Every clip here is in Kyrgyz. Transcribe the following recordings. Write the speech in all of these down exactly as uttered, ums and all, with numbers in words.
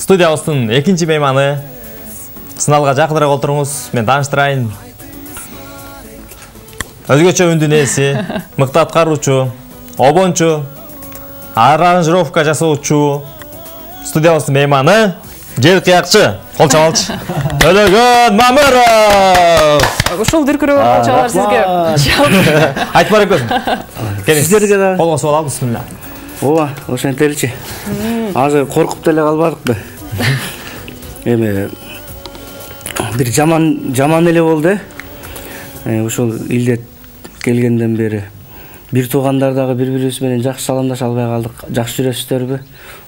Студиябыздын экинчи мейманы. Сыналга жакыныраак отуруңуз. Мен тааныштырайын. Өзгөчө үндүн ээси, мыкты аткаруучу, обончу, аранжировка жасоочу. Студиябыздын мейманы жер кыякчы, кол чабалчы. Төлөгөн Мамыров. Ушул дүркүрөп кол чабалар сизге. Айтып бар экенсиң. Сиздерге да. Колго суал алып бисмилла. Ооба, ошентеличи. Азыр коркуп деле калбадыкпы. Эми бир жаман жаман эле болду. Ошол илде келгенден бери бир туугандар дагы бири-бирибиз менен жакшы саламдаша албай калдык. Жакшы жүрөсүздөрбү?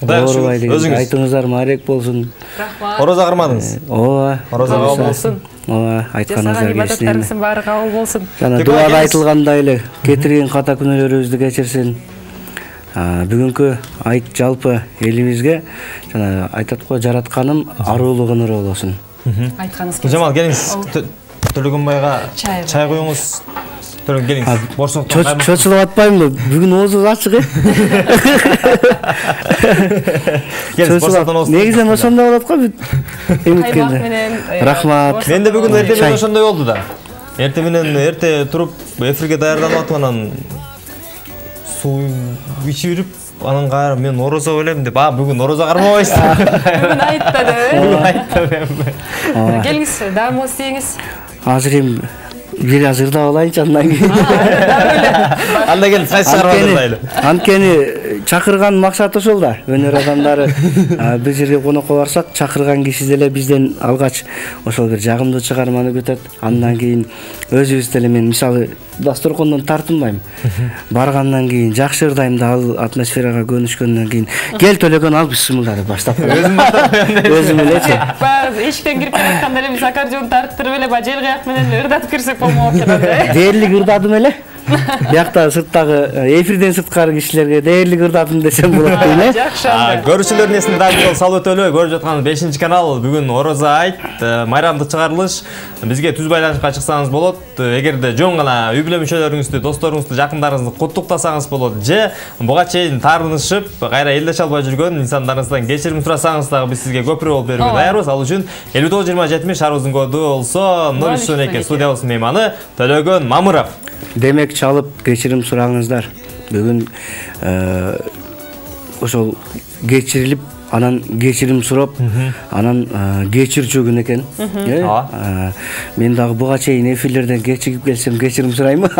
Оорубай деген. Айтыңыздар маарек болсун. Рахмат. Орозо кырмадыңыз? Ооба. Орозо кабыл болсун. Ооба, айтканыңыздар келсин. Ибадаттарыңыздын баары кабыл болсун. Жана дуада айтылгандай эле кетирген ката күнөөлөрүбүздү кечирсин. Бүгүнкү айт жалпы элибизге жана айтат го жаратканым аруулук ыныр болосун. Айтканыңыз келсин. Жамал келиңиз. Төлөгөн байга чай коюңуз. Төлөгөн келиңиз. Борсоктон кайма. Чочулуп атпаймынбы? Бүгүн оозу ачык э. Келиңиз, борсоктон оозу. Негизинен ошондой болот го бүт. Эметкен. Рахмат. Менде бүгүн эрте менен ошондой болду да. Эрте менен эрте туруп эфирге даярданып атып анан суу ичип жүрүп, анан кайра мен орозо белем деп, а бүгүн орозо кармабайсың. Бүгүн айтта деп. Бүгүн айтта деп. Келиңиз, даамыңыз теңиз. Азыр эми бир азырда алайынчы андан кийин. Анда келип кайсы чыгарбадыр. Анткени чакырган максат ошол да. Өнөр адамдары бир жерге конокко барсак, чакырган киши деле бизден алгач ошол бир жагымдуу чыгарманы күтөт. Андан кийин өзүбүз деле мен мисалы дасторкондон тартынбайм. Баргандан кийин жакшы ырдайм да, ал атмосферага көнүшкөндөн кийин кел Төлөгөн ал бисмилла деп баштап коём. Өзүм элечи. Баягы эшиктен кирип келатканда эле биз аккордеон тарттырып эле жел каяк менен ырдатып кирсек болмок экен да. Дээрлик ырдадым эле. Биякта сырттагы эфирден сырткары кишилерге дээрлик ырдадым десем болот дейм э. Жакшы анда. Көрүүчүлөрдүн эсине дагы салып өтөлү. Көрүп жатканыңыз бешинчи канал. Бүгүн Орозо айт, майрамдык чыгарылыш. Бизге түз байланышка чыксаңыз болот. Эгерде жөн гана үй бүлө мүчөлөрүңүздү, досторуңузду, жакындарыңызды куттуктасаңыз болот. Же буга чейин таарынышып, кайра элдеше албай жүргөн инсандарыңыздан кечирим сурасаңыз дагы биз сизге көпүрө болуп берүүгө даярбыз. Ал үчүн элүү тогуз жыйырма жетимиш шаарыбыздын коду болсо ноль үч он эки студиябыздын мейманы Төлөгөн Мамыров. Демек чалып кечирим сураңыздар. Бүгүн ошол кечирилип, анан кечирим сурап, анан кечирчү күн экен. Мен дагы буга чейин эфирлерден кечигип келсем кечирим сураймы?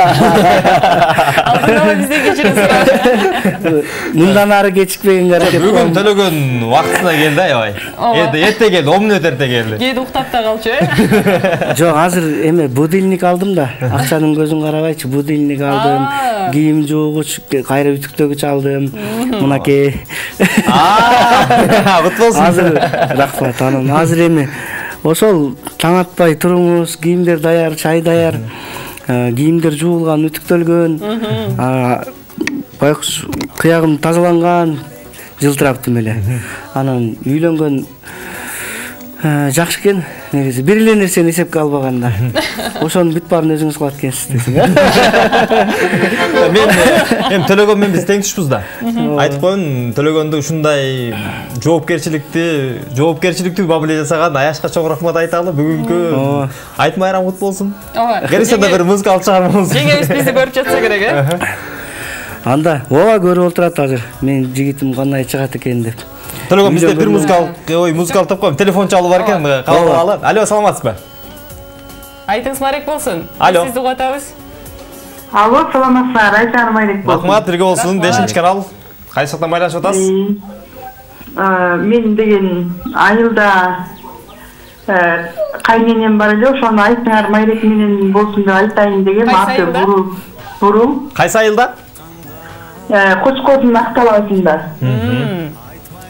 Алдыга бизден кечирим сурап. Мындан ары кечикпегенге аракет кылам. Бүгүн Төлөгөн убактысына келди, аябай. Эрте эрте келди, он мүнөт эрте келди. Кээде уктап да калчу э. Жок, азыр эме будильник алдым да. Акчанын көзүн карабайчы, будильник алдым. Кийим жуугуч, кайра үтүктөгүч алдым. Мынакей. Кут болсун. Азыр рахмат анан. Азыр эми ошол таң атпай туруңуз, кийимдер даяр, чай даяр. Кийимдер жуулган, үтүктөлгөн. Байкуш кыягым тазаланган, жылтыраптым эле. Анан үйлөнгөн жакшы экен. Негизи бир эле нерсени эсепке албаганда. Ошонун бүт баарын өзүңүз кылат экенсиз десең. Мен эми Төлөгөн менен биз тең түшпүз да. Айтып коеюн, Төлөгөндү ушундай жоопкерчиликти, жоопкерчиликтүү бабыле жасаган Аяшка чоң рахмат айталы. Бүгүнкү айт майрам кут болсун. Ооба. Келсе да бир музыкалык чыгармабыз. Жеңебиз бизди көрүп жатса керек э. Анда ооба көрүп отурат азыр. Менин жигитим кандай чыгат экен деп. Төлөгөн бизде бир музыкалык, ой, музыкалык тап коем. Телефон чалып бар экен, кабыл алып. Алло, саламатсызбы? Айтыңыз марек болсун. Алло. Сизди угатабыз. Алло, саламатсыздар. Айтарым марек болсун. Рахмат, бирге болсун. бешинчи канал. Кайсы жактан байланышып атасыз? Мен деген айылда кайненем бар эле, ошону айтыңар майрек менен болсун деп айтайын деген. Аты Буру. Буру. Кайсы айылда? Кочкордун Акталабасында.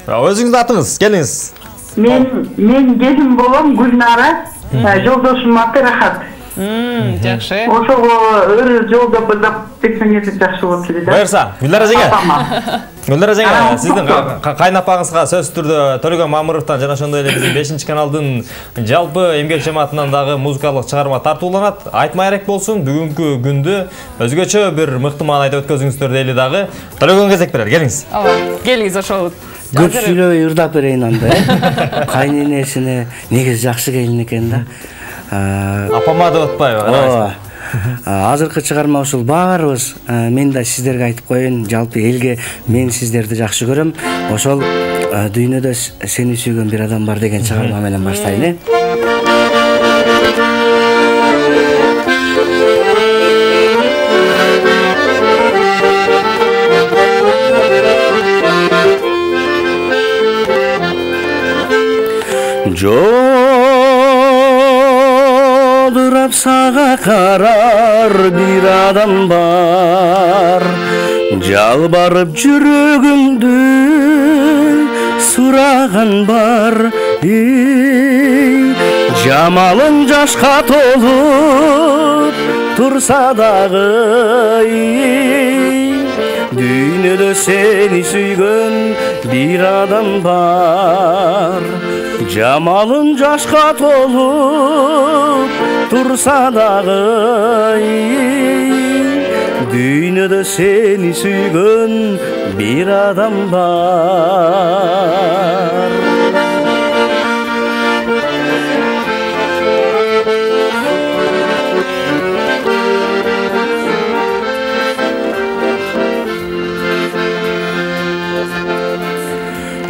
Өзүңүздүн атыңыз, келиңиз. Мен мен келин болом, Гүлнара. Жолдошум аты Рахат. Жакшы. Ошого өр жолдо быдап тексеңер жакшы болот эле да. Буйрса, Гүлнара эжеге. Гүлнара эжеге, сиздин кайнапаңызга сөзсүз түрдө Төлөгөн Мамыровдон жана ошондой эле биздин бешинчи каналдын жалпы эмгек жамаатынан дагы музыкалык чыгарма тартууланат. Айт майрек болсун. Бүгүнкү күндү өзгөчө бир мыкты маанайда өткөзүңүздөр дейли дагы. Төлөгөн кезек берер. Келиңиз. Ооба. Келиңиз ошол көп сүйлөбөй ырдап берейин анда э кайненесине негизи жакшы келин экен да. Апама деп атпайбы? Ооба. Азыркы чыгарма ушул баарыбыз мен да сиздерге айтып коеюн, жалпы элге мен сиздерди жакшы көрөм. Ошол дүйнөдө сени сүйгөн бир адам бар деген чыгарма менен баштайын э. Жодурап сага карар бир адам бар, жалбарып жүрөгүмдү сураган бар. Жамалың жашка толуп турса дагы, дүйнөдө сени сүйгөн бир адам бар. Жамалың жашка толуп турса дагы, дүйнөдө сени сүйгөн бир адам бар.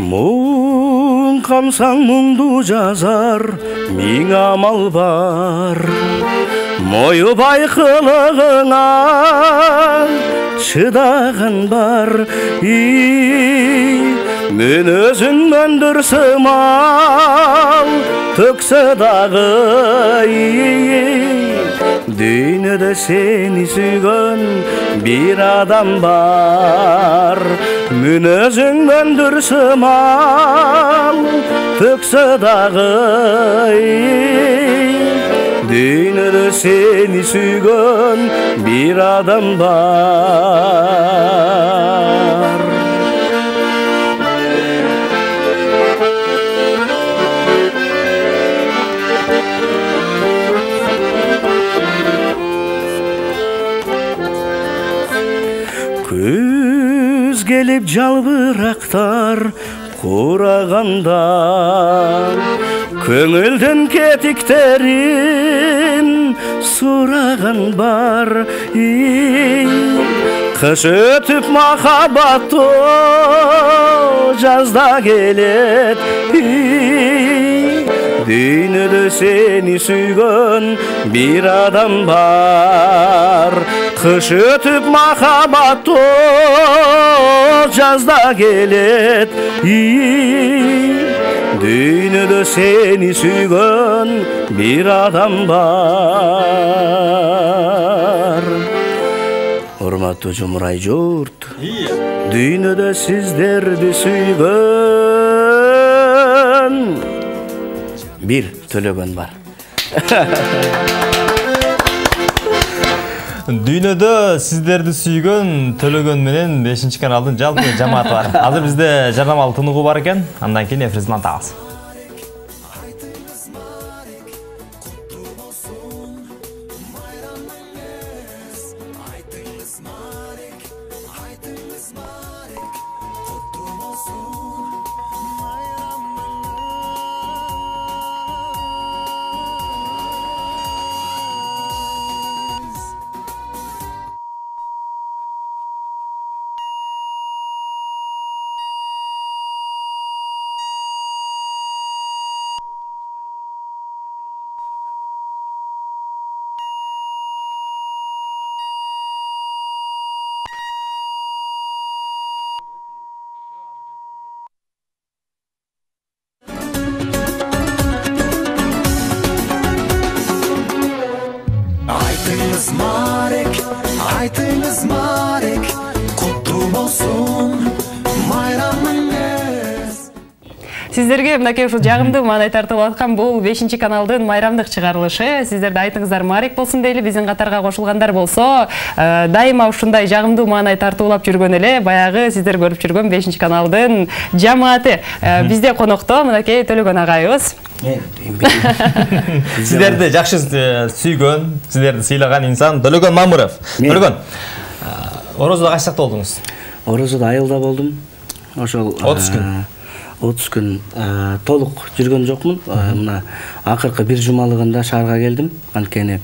Муң камсаң муңду жазар, миң амал бар. Моюбай кылыгыңа чыдаган бар. Мен өзүңмөн дурсымал төксө дагы, дүйнөдө сени сүйгөн бир адам бар. Мен өзүңмөн дурсымал төксө дагы, дүйнөдө сени сүйгөн бир адам бар. Күз келип жалбырактар кураганда, көңүлдүн кетиктерин сураган бар. Кыш өтүп махабаттоо жазда келет, дүйнөдө сени сүйгөн бир адам бар. Кыш өтүп махабаттоо жазда келет, дүйнөдө сени сүйгөн бир адам бар. Урматтуу Жумурай журт, дүйнөдө сиздерди сүйгөн бир Төлөгөн бар. Дүйнөдө сиздерди сүйгөн Төлөгөн менен бешинчи каналдын жалпы жамааты бар. Азыр бизде жарнамалык тыныгуу бар экен, андан кийин эфирибизди антабыз. Айтыңыз Марек, айтыңыз Марек, куттуу болсун майрамыңыз. Сиздерге мынакей ушул жагымдуу маанай тартылып аткан бул бешинчи каналдын майрамдык чыгарылышы. Сиздерде айтыңыздар Марек болсун дейли, биздин катарга кошулгандар болсо, дайыма ушундай жагымдуу маанай тартуулап жүргөн эле баягы сиздер көрүп жүргөн бешинчи каналдын жамааты. Бизде конокто мынакей Төлөгөн агайыбыз. Сиздерди жакшы сүйгөн, сиздерди сыйлаган инсан Төлөгөн Мамыров. Төлөгөн, орозодо качакта болдуңуз? Орозодо айылда болдум. ошол отуз күн отуз күн толук жүргөн жокмун. Мына акыркы бир жумалыгында шаарга келдим. Анткени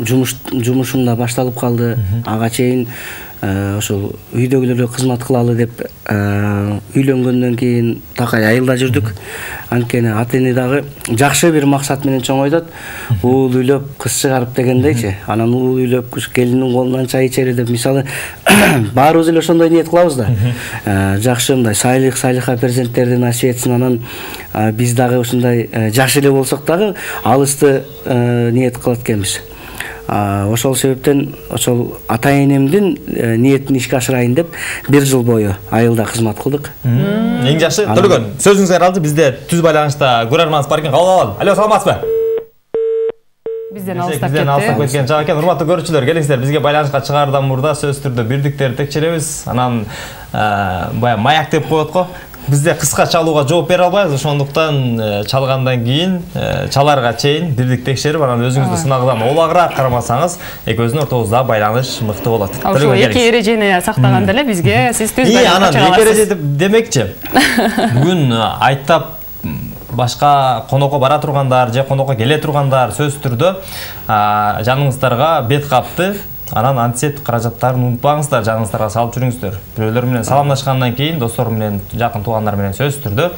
жумуш жумушум да башталып калды. Ага чейин ошол үйдөгүлөргө кызмат кылалы деп үйлөнгөндөн кийин такай айылда жүрдүк. Анткени ата-эне дагы жакшы бир максат менен чоңойтот. Уул үйлөп кыз чыгарып дегендейчи. Анан уул үйлөп келиндин колунан чай ичери деп, мисалы, баарыбыз эле ошондой ниет кылабыз да. Жакшы мындай сайлык сайлыха перзенттерди насип этсин. Анан биз дагы ушундай жаш эле болсок дагы алысты ниет кылат экенбиз. Ошол себептен ошол ата-энемдин ниетин ишке ашырайын деп бир жыл бою айылда кызмат кылдык. Эң жакшы. Төлөгөн, сөзүңүзгө аралды. Бизде түз байланышта көрөрманыбыз бар экен. Кабыл алалы. Алло, саламатсызбы? Бизден алыстап Бизден алыстап кеткен жак экен. Урматтуу көрүүчүлөр, келиңиздер, бизге байланышка чыгаардан мурда сөзсүз түрдө бирдиктерди текшеребиз. Анан баягы маяк деп коет го. Бизде кыска чалууга жооп бере албайбыз, ошондуктан чалгандан кийин чаларга чейин бирдик текшерип, анан өзүңүздү сынагыдан олагыраак карамасаңыз, экөөбүздүн ортобузда байланыш мыкты болот. Ошол эки эрежени сактаганда эле бизге сиз түз байланышка чыга аласыз. Анан эки эреже демекчи. Бүгүн айттап башка конокко бара тургандар же конокко келе тургандар сөзсүз түрдө жаныңыздарга бет капты. Анан антисептик каражаттарын унутпаңыздар, жаныңыздарга салып жүрүңүздөр. Бирөөлөр менен саламдашкандан кийин, достор менен, жакын туугандар менен сөзсүз түрдө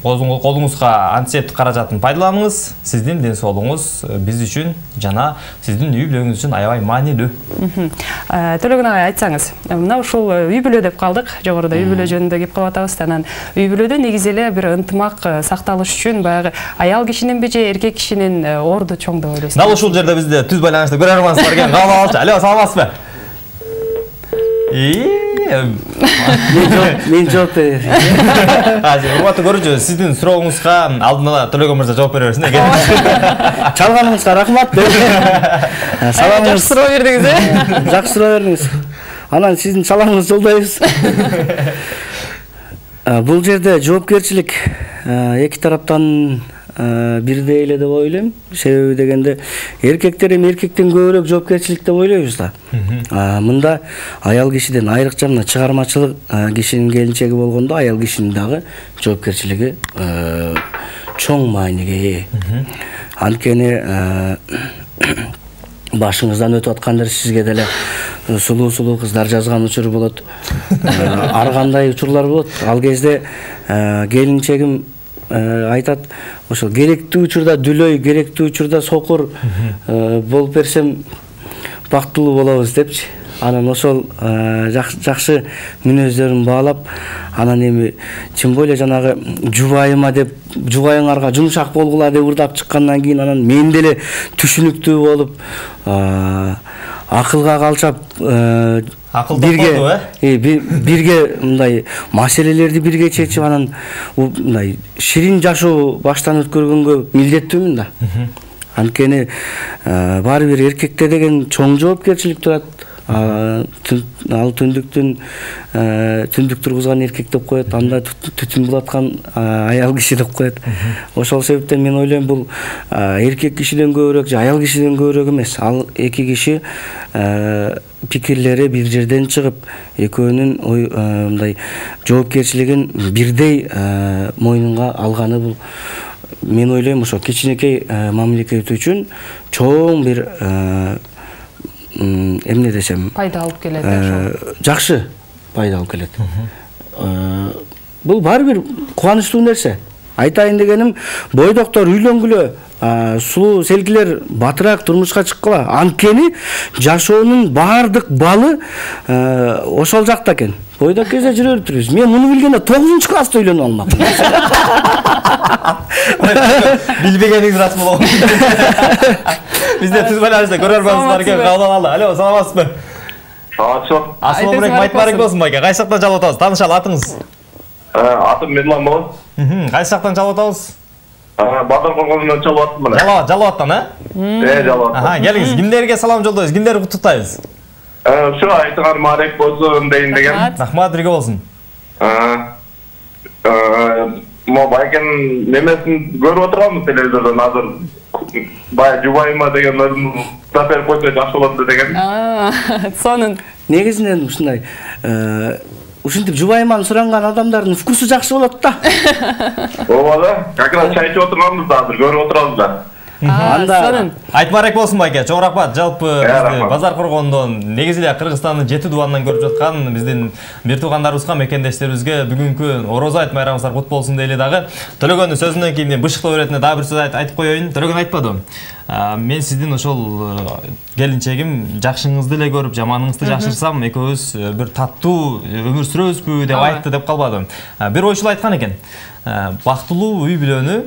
колуңузга антисептик каражатын пайдаланыңыз. Сиздин ден соолугуңуз биз үчүн жана сиздин үй бүлөңүз үчүн аябай маанилүү. Төлөгөн агай, айтсаңыз, мына ушул үй бүлө деп калдык, жогоруда үй бүлө жөнүндө кеп калып атабыз. Анан үй бүлөдө негизи эле бир ынтымак сакталыш үчүн баягы аял кишининби же эркек кишинин орду чоң деп ойлойсузбу? Дал ушул жерде бизде түз байланышта көрөрманыбыз бар экен. Алло, саламатсызбы? Мен жооп берейин. Урматтуу көрүүчү, сиздин сурооңузга алдын ала Төлөгөн мырза жооп бере берсин. Чалганыңызга рахмат. Жакшы суроо бердиңиз, э? Жакшы суроо бердиңиз. Анан сиздин чалаңызды жолдойбуз. Бул жерде жоопкерчилик эки тараптан бирдей эле деп ойлойм. Себеби дегенде эркектер эми эркектен көбүрөөк жоопкерчилик деп ойлойбуз да. Мында аял кишиден айрыкча мына чыгармачылык кишинин келинчеги болгондо аял кишинин дагы жоопкерчилиги чоң мааниге ээ. Анткени башыңыздан өтүп аткандар сизге деле сулуу-сулуу кыздар жазган учур болот. Ар кандай учурлар болот. Ал кезде келинчегим айтат, ошол керектүү учурда дүлөй, керектүү учурда сокур болуп берсем бактылуу болобуз депчи. Анан ошол жакшы мүнөздөрүн баалап, анан эми чынбой эле жанагы жубайыма деп, жубайыңарга жумшак болгула деп ырдап чыккандан кийин анан мен деле түшүнүктүү болуп, акылга калчап бирге бирге мындай маселелерди бирге чечип, анан мындай ширин жашоо баштан өткөргөнгө милдеттүүмүн да. Анткени баары бир эркекте деген чоң жоопкерчилик турат. Ал түндүктүн түндүк тургузган эркек деп коет, анда түтүн булаткан аял киши деп коет. Ошол себептен мен ойлойм, бул эркек кишиден көбүрөөк же аял кишиден көбүрөөк эмес. Ал эки киши пикирлери бир жерден чыгып, экөөнүн мындай жоопкерчилигин бирдей мойнунга алганы бул, мен ойлойм, ошо кичинекей мамлекет үчүн чоң бир эмне десем, пайда алып келет. Жакшы пайда алып келет. Бул баары бир кубанычтуу нерсе. Айтайын дегеним, бойдоктор үйлөнгүлө, сулуу селкилер батыраак турмушка чыккыла. Анткени жашоонун баардык балы ошол жакта экен. Бойдок кезде жүрө бериптирбиз. Мен муну билгенде тогузунчу класста үйлөнүп алмакмын. Билбегениңиз рас болгон. Бизде түз байланышта көрөрманыбыз бар экен. Кабыл алалы. Алло, саламатсызбы? Саламатсызбы. Ассалому алейкум, айтбарыңыз болсун байке. Кайсы жактан жалп атабыз? Таанышалы, атыңыз? Атым Медлан болот. Кайсы жактан жалп атабыз? Батыр коргонунан жалп аттым мына. Жалп, жалп аттан, э? Э, жалп аттым. Аха, келиңиз. Кимдерге салам жолдойбуз? Кимдерди куттуктайбыз? Ошо айтыңар Марек болсун дейин деген. Рахмат, бирге болсун. Мо байкенин немесин көрүп отурганбыз телевизордон азыр. Бая жубайыма деген өзүн сапер койсо жакшы болот деген. Сонун негизинен ушундай ушинтип жубайыманы суранган адамдардын вкусу жакшы болот да. Ооба да, как раз чай ичип отурганбыз, азыр көрүп отурабыз да. Анда айтмарек болсун байке, чоң рахмат. Жалпы бизди базар коргондон негизи эле Кыргызстандын жети дубанынан көрүп жаткан биздин бир туугандарыбызга, мекендештерибизге бүгүнкү Орозо айт майрамыңыздар кут болсун дейли дагы. Төлөгөндүн сөзүнөн кийин бышыктоо иретине дагы бир сөз айтып коеюн. Төлөгөн айтпадым. Мен сиздин ошол келинчегим жакшыңызды эле көрүп, жаманыңызды жакшырсам, экөөбүз бир таттуу өмүр сүрөбүзбү деп айтты деп калбадым. Бир ойчул айткан экен. Бактылуу үй бүлөнү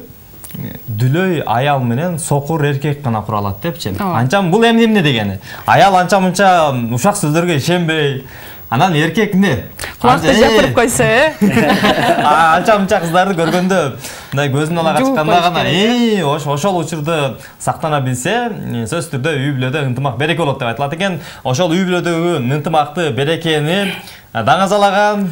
дүлөй аял менен сокур эркек гана кура алат депчи. Анчам бул эмне эмне дегени? Аял анча мынча ушак сөздөргө ишенбей, анан эркек эмне? Кулакты жапырып койсо, э? Анча мынча кыздарды көргөндө, мындай көзүн ала качканда гана, э, ошол учурда сактана билсе, сөзсүз түрдө үй бүлөдө ынтымак береке болот деп айтылат экен. Ошол үй бүлөдөгү ынтымакты, берекени даңазалаган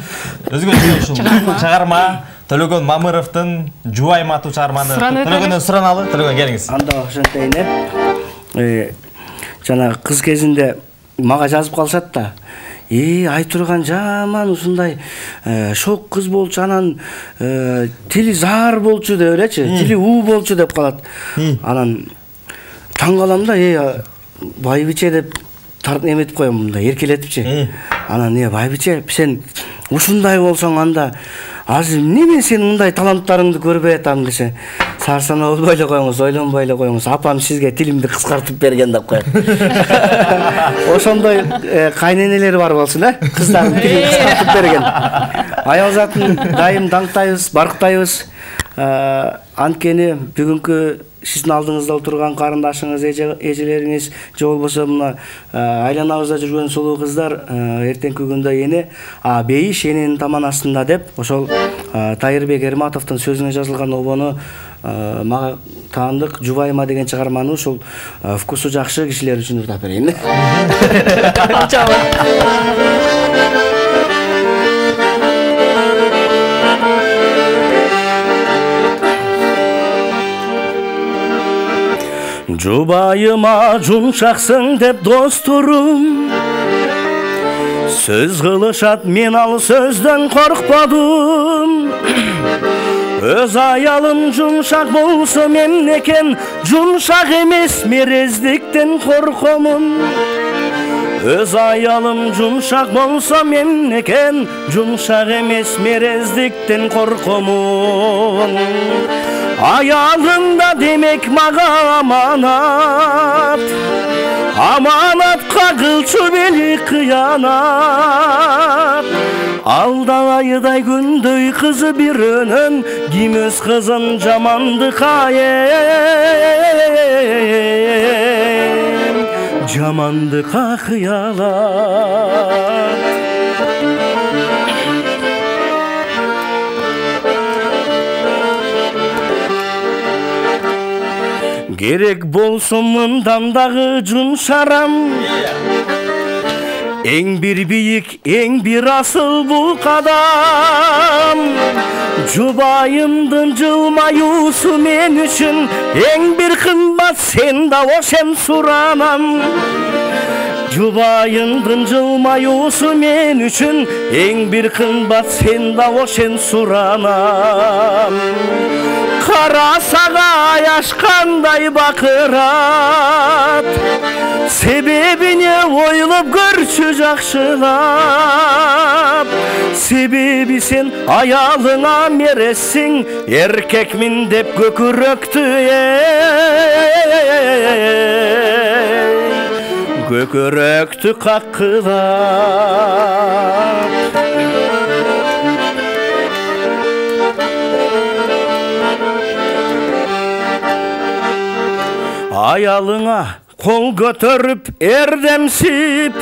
өзгөчө ушул чыгарма Төлөгөн Мамыровдун Жубайым аттуу чыгарманы Төлөгөндөн сураналы. Төлөгөн келиңиз. Анда ошентейин э. Жана кыз кезинде мага жазып калышат да. Э, айтурган жаман ушундай шок кыз болчу, анан тили заар болчу деп элечи, тили уу болчу деп калат. Анан таң калам да, э, байбиче деп тарт эметип коем мындай эркелетипчи. Анан э, байбиче, сен ушундай болсоң анда азыр неме сен мындай таланттарыңды көрбөй атам десе, сарсана болбой эле коюңуз, ойлонбой эле коюңуз, апам сизге тилимди кыскартып берген деп коет. Ошондой кайненелери бар болсун, э? Кыздардын тилин кыскартып берген. Аял затын дайым даңктайбыз, барктайбыз. Анткени бүгүнкү сиздин алдыңызда отурган карындашыңыз, эжелериңиз, же болбосо мына айланабызда жүргөн сулуу кыздар эртеңки күндө эне, а бейиш эненин таман астында деп ошол Тайырбек Эрматовдун сөзүнө жазылган обону мага таандык Жубайыма деген чыгарманы ушул вкусу жакшы кишилер үчүн ырдап берейин. Жубайыма жумшаксың деп досторум сөз кылышат, мен ал сөздөн коркподум. Өз аялым жумшак болсо мемнекен жумшак эмес, мерездиктен коркомун. Өз аялым жумшак болсо мемнекен жумшак эмес, мерездиктен коркомун. Аялында демек мага аманат, аманатка кылчу бели кыянат. Алда айдай күндөй кызы бирөөнөн, ким өз кызын жамандыкка эм, жамандыкка кыялат. Керек болсун мындан дагы жумшарам, эң бир бийик, эң бир асыл бул кадам. Жубайымдын жылмаюусу мен үчүн эң бир кымбат, сен да ошен суранам. Жубайымдын жылмаюусу мен үчүн эң бир кымбат, сен да ошен суранам. Карасага аяшкандай бакырат, себебине ойлоп көрчү жакшылап. Себеби сен аялыңа мерессиң, эркекмин деп көкүрөктү көкүрөктү каккылап. Аялыңа кол көтөрүп эрдемсип,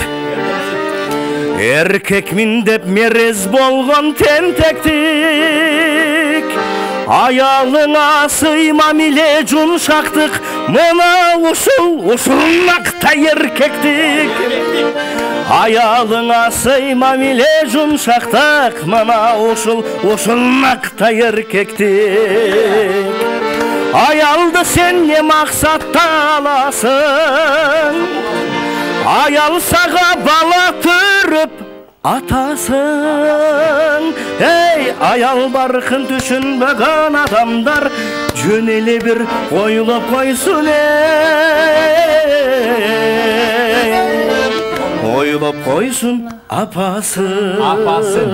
эркекмин деп мерез болгон тентектик. Аялыңа сыймам эле жумшактык, мына ушул ушулмакта эркектик. Аялыңа сыймам эле жумшактык, мына ушул ушулмакта эркектик. Аялды сен не максатта аласың? аял сага бала түрүп атасың. Эй, аял баркын түшүнбөгөн адамдар жөн эле бир ойлоп койсун. Эй, ойлоп койсун апасын. Апасын.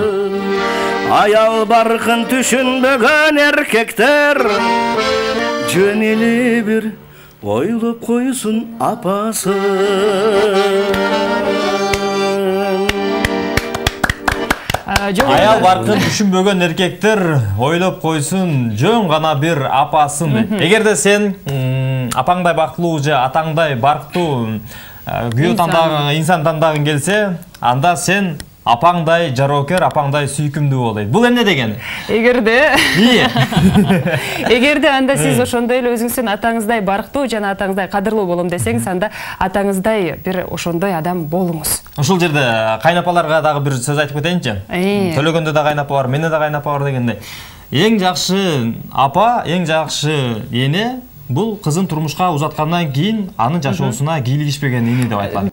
Аял баркын түшүнбөгөн эркектер жөн эле бир ойлоп койсун апасын. Аял баркын түшүнбөгөн эркектер ойлоп койсун жөн гана бир апасын. Эгерде сен апаңдай бактылуу же атаңдай барктуу күйөө тандаган инсан тандагың келсе, анда сен апаңдай жароокер, апаңдай сүйкүмдүү болойт. Бул эмне дегени? Эгерде Ийе. Эгерде анда сиз ошондой эле өзүңүздүн атаңыздай барктуу жана атаңыздай кадырлуу болом десеңиз, анда атаңыздай бир ошондой адам болуңуз. Ушул жерде кайнапаларга дагы бир сөз айтып кетейинчи. Төлөгөндө да кайнапа бар, менде да кайнапа бар дегендей. Эң жакшы апа, эң жакшы эне бул кызын турмушка узаткандан кийин анын жашоосуна кийлигишпеген эне деп айтылат.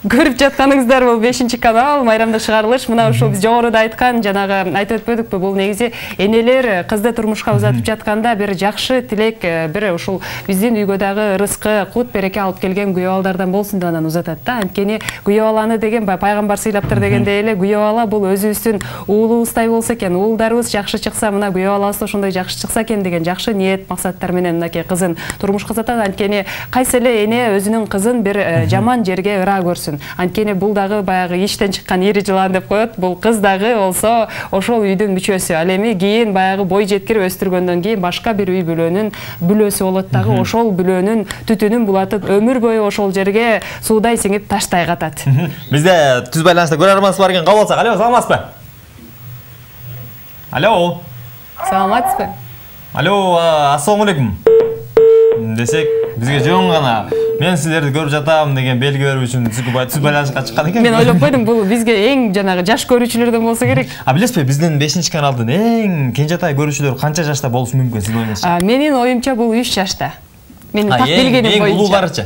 Көрүп жатканыңыздар бул бешинчи канал майрамдык чыгарылыш. Мына ушул биз жогоруда айткан, жанагы айтып өтпөдүкпү, бул негизи энелер кызды турмушка узатып жатканда бир жакшы тилек, бир ушул биздин үйгө дагы рызкы, кут береке алып келген күйөө балдардан болсун деп анан узатат да. Анткени күйөө баланы деген пайгамбар сыйлаптыр дегендей эле, күйөө бала бул өзүбүздүн уулубуздай болсо экен, уулдарыбыз жакшы чыкса, мына күйөө балабыз ошондой жакшы чыкса экен деген жакшы ниет, максаттар менен мынакей кызын турмушка узатат. Анткени кайсы эле эне өзүнүн кызын бир жаман жерге ыра көрсүн. Анткени бул дагы баягы иштен чыккан ири жылан деп коет. Бул кыз дагы болсо ошол үйдүн мүчөсү. Ал эми кийин баягы бой жеткирип өстүргөндөн кийин башка бир үй бүлөнүн бүлөсү болот дагы. Ошол бүлөнүн түтүнүн булатып өмүр бою ошол жерге суудай сиңип таштай катат. Бизде түз байланышта көрөрманыбыз бар экен, кабыл алсак. Алло, саламатсызбы? Алло. Саламатсызбы? Алло, ассаламу алейкум. Десек, бизге жөн гана мен силерди көрүп жатам деген белги берүү үчүн түз байланышка чыккан экен. Мен ойлоп койдум, бул бизге эң жанагы жаш көрүүчүлөрдөн болсо керек. А билесизби, биздин бешинчи каналдын эң кенжетай көрүүчүлөрү канча жашта болушу мүмкүн сиздин оюңузча? Менин оюмча бул үч жашта. Менин так билгеним боюнча. Эң улууларычы?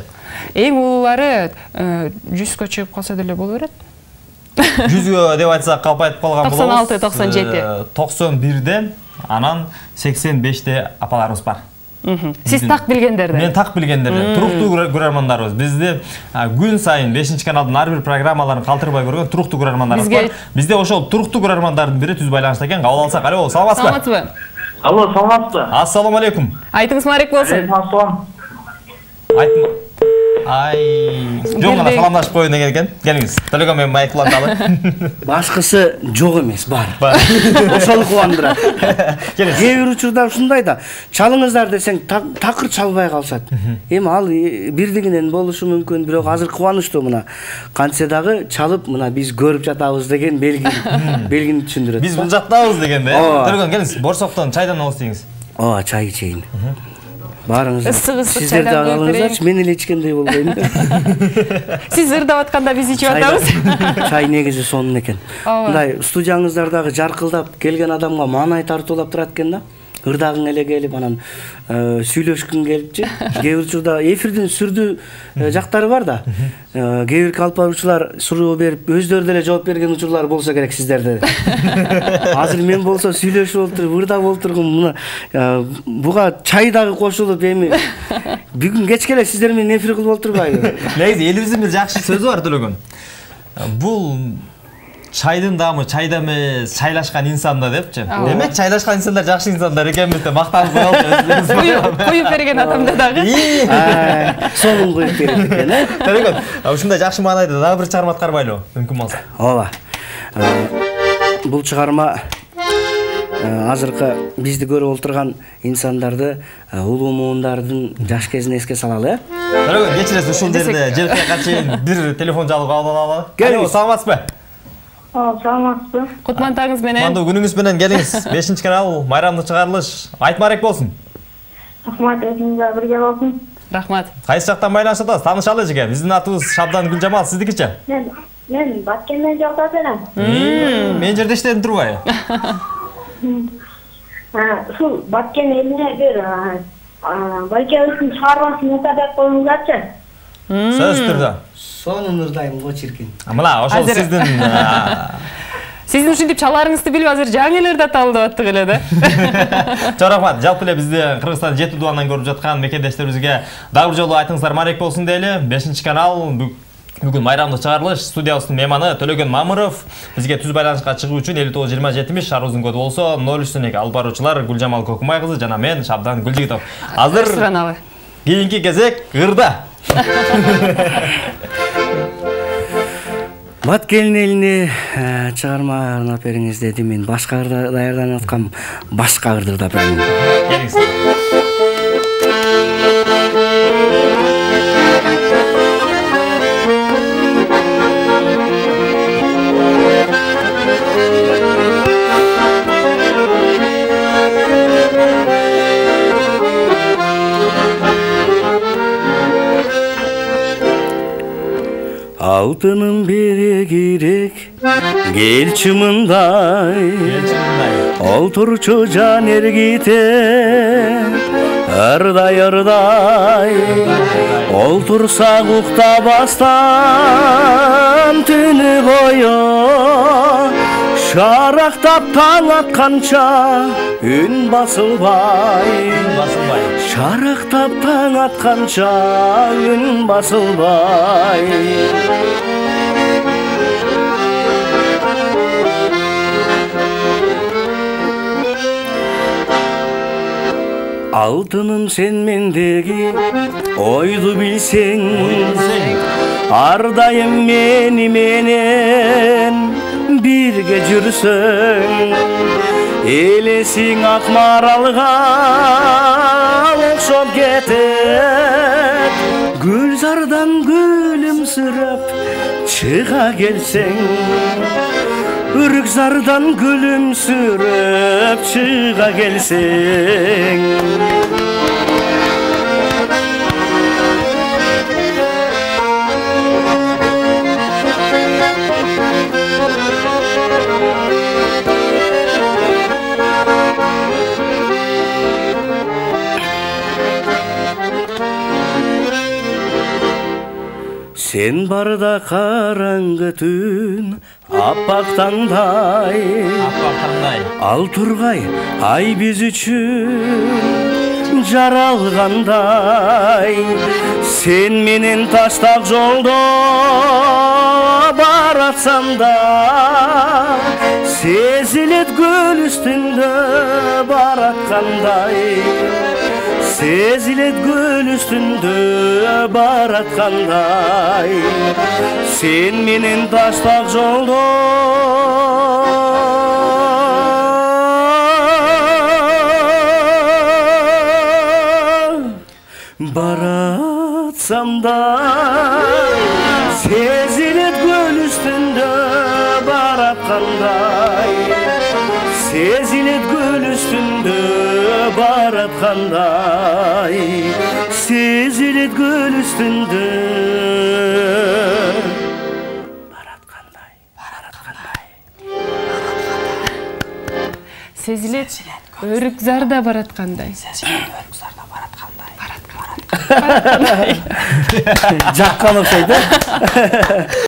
Эң улуулары жүзгө чыгып калса деле боло берет. жүзгө деп айтсак калп айтып калган болобуз. токсон алты токсон жети. токсон бирде, анан сексен беште апаларыбыз бар. Сиз так билгендерде. Мен так билгендерде. Туруктуу көрөрмандарыбыз. Бизде күн сайын бешинчи каналдын ар бир программаларын калтырбай көргөн туруктуу көрөрмандарыбыз бар. Бизде ошол туруктуу көрөрмандардын бири түз байланышта экен. Кабыл алсак. Алло, саламатсызбы? Саламатсызбы? Алло, саламатсызбы? Ассаламу алейкум. Айтыңыз марек болсун. Ассалам. Айтым. Ай, жөн гана саламдашып коюн деген экен. Келиңиз. Төлөгөн менен майк уланталы. Башкысы жок эмес, бар. Ошол кубандырат. Кээ бир учурда ушундай да, чалыңыздар десең такыр чалбай калышат. Эми ал бирдигинен болушу мүмкүн, бирок азыр кубанычтуу мына. Кантсе дагы чалып мына биз көрүп жатабыз деген белги, белгини түшүндүрөт. Биз бул жактабыз дегенде. Төлөгөн келиңиз, борсоктон чайдан алып ийиңиз. Ооба, чай ичейин. Барыңыз. Ысык-ысык Сиздер чайдан да алыңыздарчы, мен эле ичкендей болбойм. Сиз ырдап атканда биз ичип атабыз. Чай негизи сонун экен. Мындай студияңыздардагы жаркылдап келген адамга маанай тартуулап турат экен да. Ырдагың эле келип анан сүйлөшкүң келипчи. Кээ бир учурда эфирдин сүрдүү жактары бар да. Кээ бир алып баруучулар суроо берип, өздөрү деле жооп берген учурлар болсо керек сиздерде. Азыр мен болсо сүйлөшүп олтуруп, ырдап олтургум, мына буга чай дагы кошулуп эми бүгүн кечке эле сиздер менен эфир кылып олтурбайбы? Негизи элибиздин бир жакшы сөзү бар Төлөгөн. Бул чайдын дамы чайда эмес, чайлашкан инсанда депчи. Демек чайлашкан инсандар жакшы инсандар экенбиз деп мактанып коелучу. Коюп берген адамда дагы. Сонун коюп берет экен, э? Төлөгөн, ушундай жакшы маанайда дагы бир чыгарма аткарбайлы, мүмкүн болсо. Ооба. Бул чыгарма азыркы бизди көрүп олтурган инсандарды, улуу муундардын жаш кезин эске салалы, э? Төлөгөн, кечиресиз, ушул жерде желкеге чейин бир телефон жалып алалы. Алло, саламатсызбы? Саламатсызбы? Кутмантаңыз менен. Кутмандуу күнүңүз менен келиңиз. бешинчи канал майрамдык чыгарылыш. Айтмарек болсун. Рахмат, өзүңүзгө бирге болсун. Рахмат. Кайсы жактан байланышып атасыз? Таанышалы эже. Биздин атыбыз Шабдан Гүлжамал, сиздикичи? Мен мен Баткенден жактан элем. Мен жерде иштедим турбайбы? Ушул Баткен элине бир балкебиздин чыгармасын жасап коюңуздарчы. Сөзсүз түрдө. Сонун ырдайм го чиркин. Мына ошол сиздин Сиздин ушинтип чаларыңызды билип азыр жаңы эле ырдап алып аттык эле да. Чоң рахмат. Жалпы эле бизди Кыргызстан жети дубандан көрүп жаткан мекендештерибизге дагы бир жолу айтыңыздар маек болсун дейли. бешинчи канал бүгүн майрамдык чыгарылыш, студиябыздын мейманы Төлөгөн Мамыров. Бизге түз байланышка чыгуу үчүн элүү тогуз жыйырма жетимиш шаарыбыздын коду болсо ноль үч эки алып баруучулар Гүлжамал Көкүмай кызы жана мен Шабдан Гүлжигитов. Азыр кийинки кезек ырда. Бат келин элине чыгарма арнап бериңиз деди. Мен башка ырда даярданып аткам. Башка ырды ырдап берейин. Келиңиз. Алтынын бере керек кел чымындай олтурчу жан эргите ырдай ырдай олтурсак уктабастан түнү бою шарактап таң атканча үн басылбай шарактап таң атканча үн басылбай алтыным сен мендеги ойду билсең ар дайым мени менен бирге жүрсөң элесиң ак маралга окшоп кетет гүлзардан күлүмсүрөп чыга келсең үрүкзардан күлүмсүрөп чыга келсең Сен барда караңгы түн аппак таңдай ал тургай ай биз үчүн жаралгандай сен менен таштак жолдо баратсам да сезилет гүл үстүндө бараткандай сезилет гүл үстүндө бараткандай сен менен таштак жолдо баратсам да сезилет гүл үстүндө бараткандай сезилет гүл үстүндө бараткандай сезилет гүл үстүндө бараткандай бараткандай сезилет өрүкзарда бараткандай өрүкзарда бараткандай бараткандай жаккан окшойт да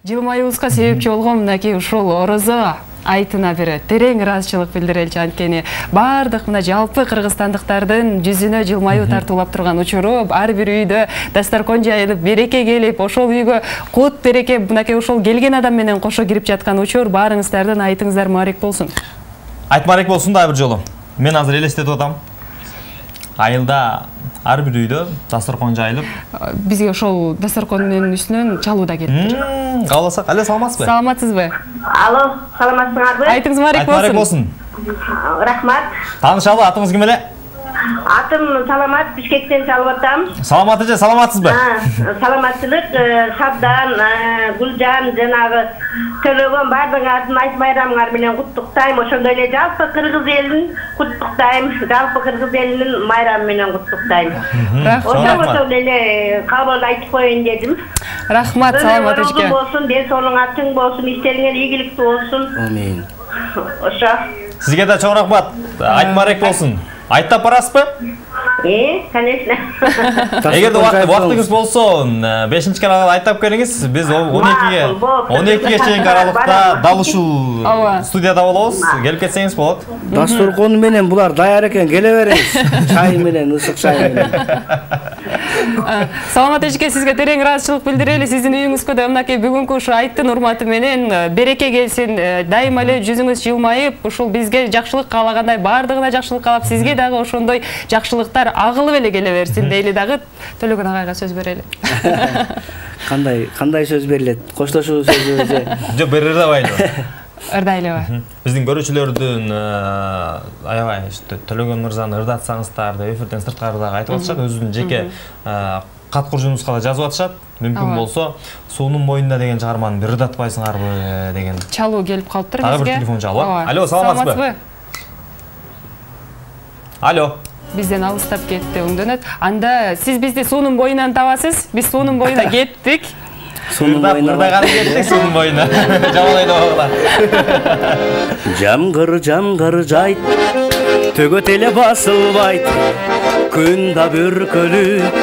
жылмаюубузга себепчи болгон мынакей ушул орозо айтына бир терең ыраазычылык билдиреличи. Анткени баардык мына жалпы кыргызстандыктардын жүзүнө жылмаюу тартуулап турган учуру ар бир үйдө дасторкон жайылып береке келип ошол үйгө кут береке мынакей ошол келген адам менен кошо кирип жаткан учур баарыңыздардын айтыңыздар мубарек болсун. Айт мубарек болсун да бир жолу. Мен азыр элестетип атам. Айылда ар бир үйдө дасторкон жайылып бизге ошол дасторкондун үстүнөн чалуу да келиптир. Кааласак, але саламатсызбы? Саламатсызбы? Алло, саламатсыңарбы? Айтыңыз мубарек болсун. Рахмат. Таанышалы, атыңыз ким эле? Атым Саламат, Бишкектен чалып атам. Саламат эже, саламатсызбы? Саламатчылык, Шабдан, Гүлжан, жанагы Төлөгөн баардыгыңардын айт майрамыңар менен куттуктайм. Ошондой эле жалпы кыргыз элин куттуктайм. Жалпы кыргыз элинин майрамы менен куттуктайм. Ошол эле кабыл айтып коеюн дедим. Рахмат, саламат эже. Болсун, ден соолугуңар чың болсун, иштериңер ийгиликтүү болсун. Амин. Ошо. Сизге да чоң рахмат. Айт мубарек болсун. Айттап барасызбы? Э, конечно. Эгерде убактыңыз болсо, бешинчи каналга айтып келиңиз. Биз он экиге он экиге чейинки аралыкта дал ушул студияда болобуз. Келип кетсеңиз болот. Дасторкону менен булар даяр экен, келе бериңиз. Чай менен, ысык чай менен. Саламат эжеке, сизге терең ыраазычылык билдирели. Сиздин үйүңүзгө да мынакей бүгүнкү ушу айттын урматы менен береке келсин. Дайыма эле жүзүңүз жылмайып, ушул бизге жакшылык каалагандай баардыгына жакшылык каалап, сизге дагы ошондой жакшылыктар агылып эле келе берсин дейли дагы Төлөгөн агайга сөз берели. Кандай, кандай сөз берилет? Коштошуу сөзү же? Жок, бере албайбы. Ырдайлабы. Биздин көрүүчүлөрдүн аябай Төлөгөн мырзаны ырдатсаңыздар деп эфирден сырткары дагы айтып атышат. Өзүнүн жеке кат куржунубузга да жазып атышат. Мүмкүн болсо, суунун боюнда деген чыгарманы бир ырдатпайсыңарбы деген. Чалуу келип калыптыр бизге. Дагы бир телефон чалуу. Алло, саламатсызбы? Алло. Бизден алыстап кетти, өңдөнөт. Анда сиз бизди суунун боюнан табасыз. Биз суунун боюна кеттик. Суунун боюна ырдаган кеттик, суунун боюна. Жамалайды багыла. Жамгыр, жамгыр жайт, төгөт эле басылбайт. Күн да бүркөлүп,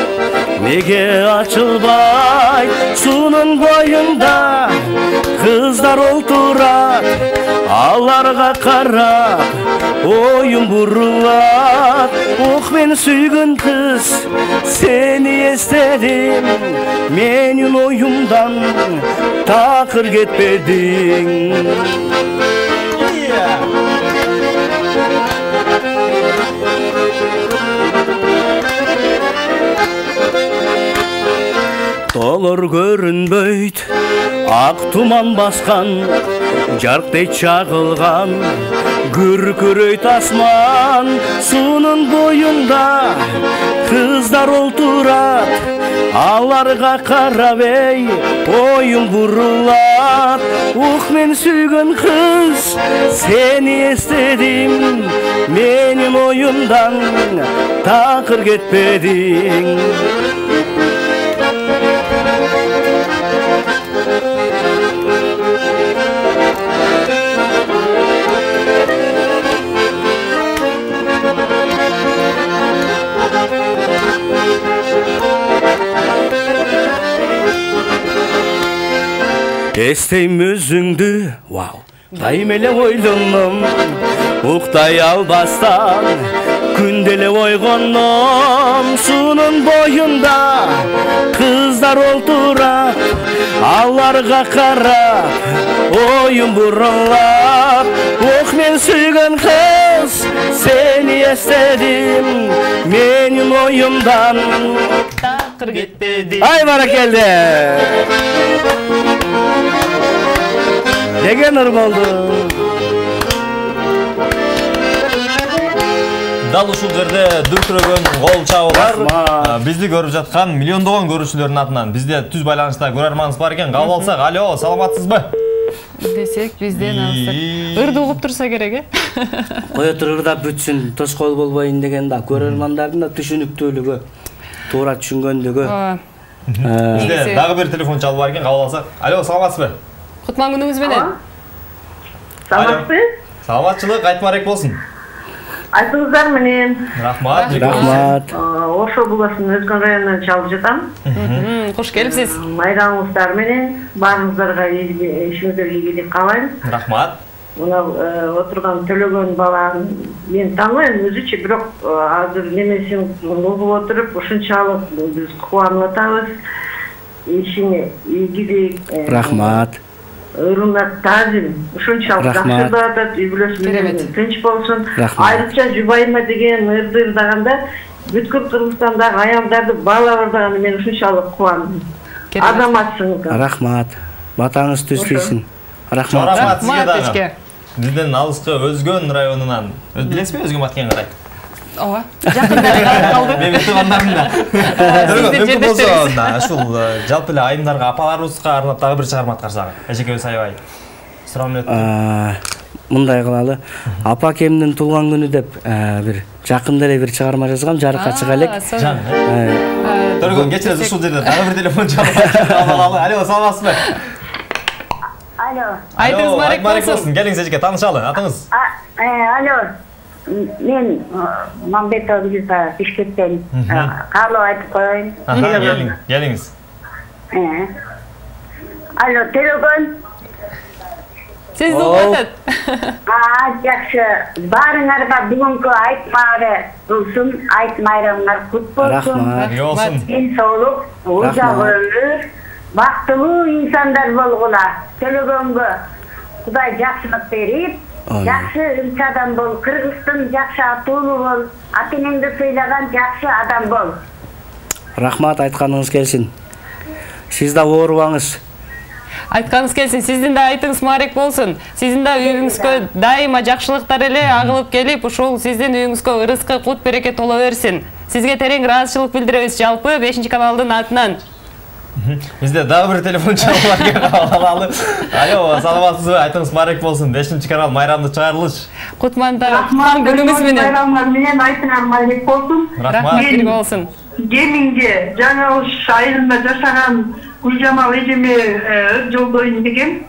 неге ачылбайт? Суунун боюнда кыздар олтурат, аларга карап оюм бурулат. Ох, мен сүйгөн кыз, сени эстедим, менин оюмдан такыр кетпедиң. Толор көрүнбөйт, ак туман баскан, жарктей чагылган, күркүрөйт асман. Суунун боюнда кыздар олтурат, аларга карап эй оюм бурулат. Ух, мен сүйгөн кыз, сени эстедим, менин оюмдан такыр кетпедиң. Эстейм өзүңдү, вау, дайым эле ойлоном, уктай албастан, күндө эле ойгоном. Суунун боюнда кыздар олтурат, аларга карап оюм бурулат. Ох, мен сүйгөн кыз, сени эстедим, менин оюмдан такыр кетпеди. Ай, баракелде. Деген ыр болду. Дал ушул жерде дүркүрөгөн кол чабуулар бизди көрүп жаткан миллиондогон көрүүчүлөрдүн атынан бизде түз байланышта көрөрманыбыз бар экен. Кабыл алсак, алло, саламатсызбы? Десек, бизден алсак. Ырды угуп турса керек, э? Кое тур ырдап бүтсүн, тоскоол болбойн деген да көрөрмандардын да түшүнүктүүлүгү, туура түшүнгөндүгү. Бизде дагы бир телефон чалып бар экен. Кабыл алсак. Алло, саламатсызбы? Кутман күнүңүз менен. Саламатсызбы? Саламатчылык айтмарек болсун. Айтыңыздар менен. Рахмат. Рахмат. Ошо Булаштын Өзгөн районунан чалып жатам. Кош келипсиз. Майрамыңыздар менен баарыңыздарга ишиңиздерге ийгилик каалайм. Рахмат. Мына отурган Төлөгөн баланы мен тааныбайм өзүчө, бирок азыр немесин угуп отуруп ушунчалык биз кубанып атабыз. Ишиңе ийгилик. Рахмат. Ырымдап таазим, ушунчалык жакшы да атат, үй бүлөсү тынч болсун. Айрыкча Жубайыма деген ырды ырдаганда бүткүл Кыргызстандагы аялдарды баалап ырдаганда мен ушунчалык кубандым. Азаматсың. Рахмат. Батаңыз түзбөйсүн. Рахмат. Рахмат сизге дагы. Бизден алыскы Өзгөн районунан. Билесизби Өзгөн Баткен карай? Ооба. Жакындары калды. Мен туугандарым да. Мүмкүн болсо, ушул жалпы эле айымдарга, апаларыбызга арнап дагы бир чыгарма аткарсак. Эжекебиз аябай сурап эле. Мындай кылалы. Апа акемдин туулган күнү деп бир жакында эле бир чыгарма жазгам, жарыкка чыга элек. Төргөн кечиресиз, ушул жерде дагы бир телефон чалып алалы. Алло, саламатсызбы? Алло. Айтыңыз, Марек болсун. Келиңиз эжеке, таанышалы, атыңыз? Алло. мен Мамбетова Гүлза Бишкектен каалоо айтып коеюн. Келиңиз. Алло, телефон. Сиз угатат. А, жакшы. Баарыңарга бүгүнкү айт болсун, айт майрамыңар кут болсун. Рахмат. Ден соолук, узак өмүр, бактылуу инсандар болгула. Төлөгөнгө Кудай жакшылык берип, жакшы өлчү адам бол, Кыргыздын жакшы атуулу бол, ата-энеңди сыйлаган жакшы адам бол. Рахмат, айтканыңыз келсин. Сиз да оорубаңыз. Айтканыңыз келсин, сиздин да айтыңыз маарек болсун. Сиздин да үйүңүзгө дайыма жакшылыктар эле агылып келип, ушул сиздин үйүңүзгө ырыскы, кут береке толо берсин. Сизге терең ыраазычылык билдиребиз жалпы бешинчи каналдын атынан. Бизде дагы бир телефон чалып алалы. Алло, саламатсызбы? Айтыңыз маарек болсун. бешинчи канал майрамдык чыгарылыш. Кутманда күнүңүз менен. Майрамыңар менен айтыңар маарек болсун. Рахмат болсун. Кеминге жаңы уш айылында жашаган Гүлжамал эжеме жолдойм деген.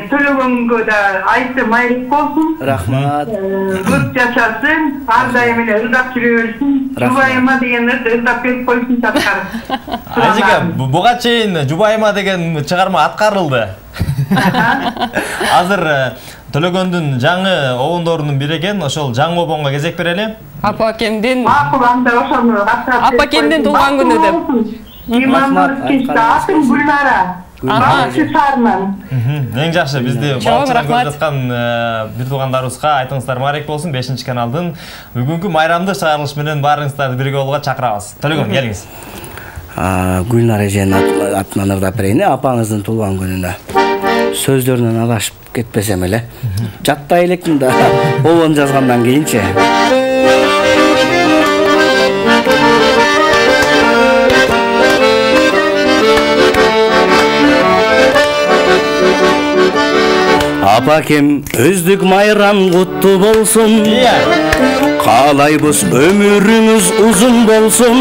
Төлөгөнгө да айты майрек болсун. Рахмат. Көп жашасын, ар дайым эле ырдап жүрө берсин. Жубайыма деген ырдап берип койсун чаткар. Ажеке, буга чейин Жубайыма деген чыгарма аткарылды. Азыр Төлөгөндүн жаңы обондорунун бири экен, ошол жаңы обонго кезек берели. Апа акемдин Макул, анда ошону каттап. Апа акемдин туулган күнү деп. Имамдын кечте атын Гүлнара. Акчы сарынан. Эң жакшы, бизди балчыдан көрүп жаткан бир туугандарыбызга айтыңыздар маарек болсун. бешинчи каналдын бүгүнкү майрамдык чыгарылыш менен баарыңыздарды бирге болууга чакырабыз. Төлөгөн, келиңиз. Гүлнара эженин атынан ырдап берейин, апаңыздын туулган күнүнө. Сөздөрүнөн адашып кетпесем эле. Жаттай электин да, обон жазгандан кийинчи. Апакем, өздүк майрам куттуу болсун. Каалайбыз өмүрүңүз узун болсун.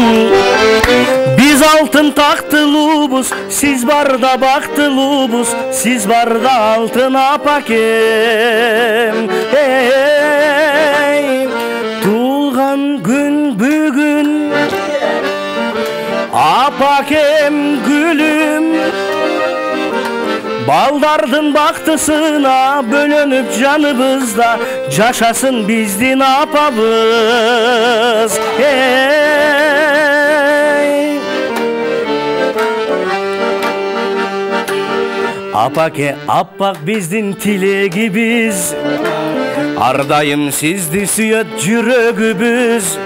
Биз алтын тактылуубуз, сиз барда бактылуубуз, сиз барда алтын апакем. Туулган күн бүгүн, апакем гүлүм. Балдардын бактысына бөлөнүп жаныбызда, жашасын биздин апабыз. Апаке, аппак биздин тилегибиз, ар дайым сизди сүйөт жүрөгүбүз.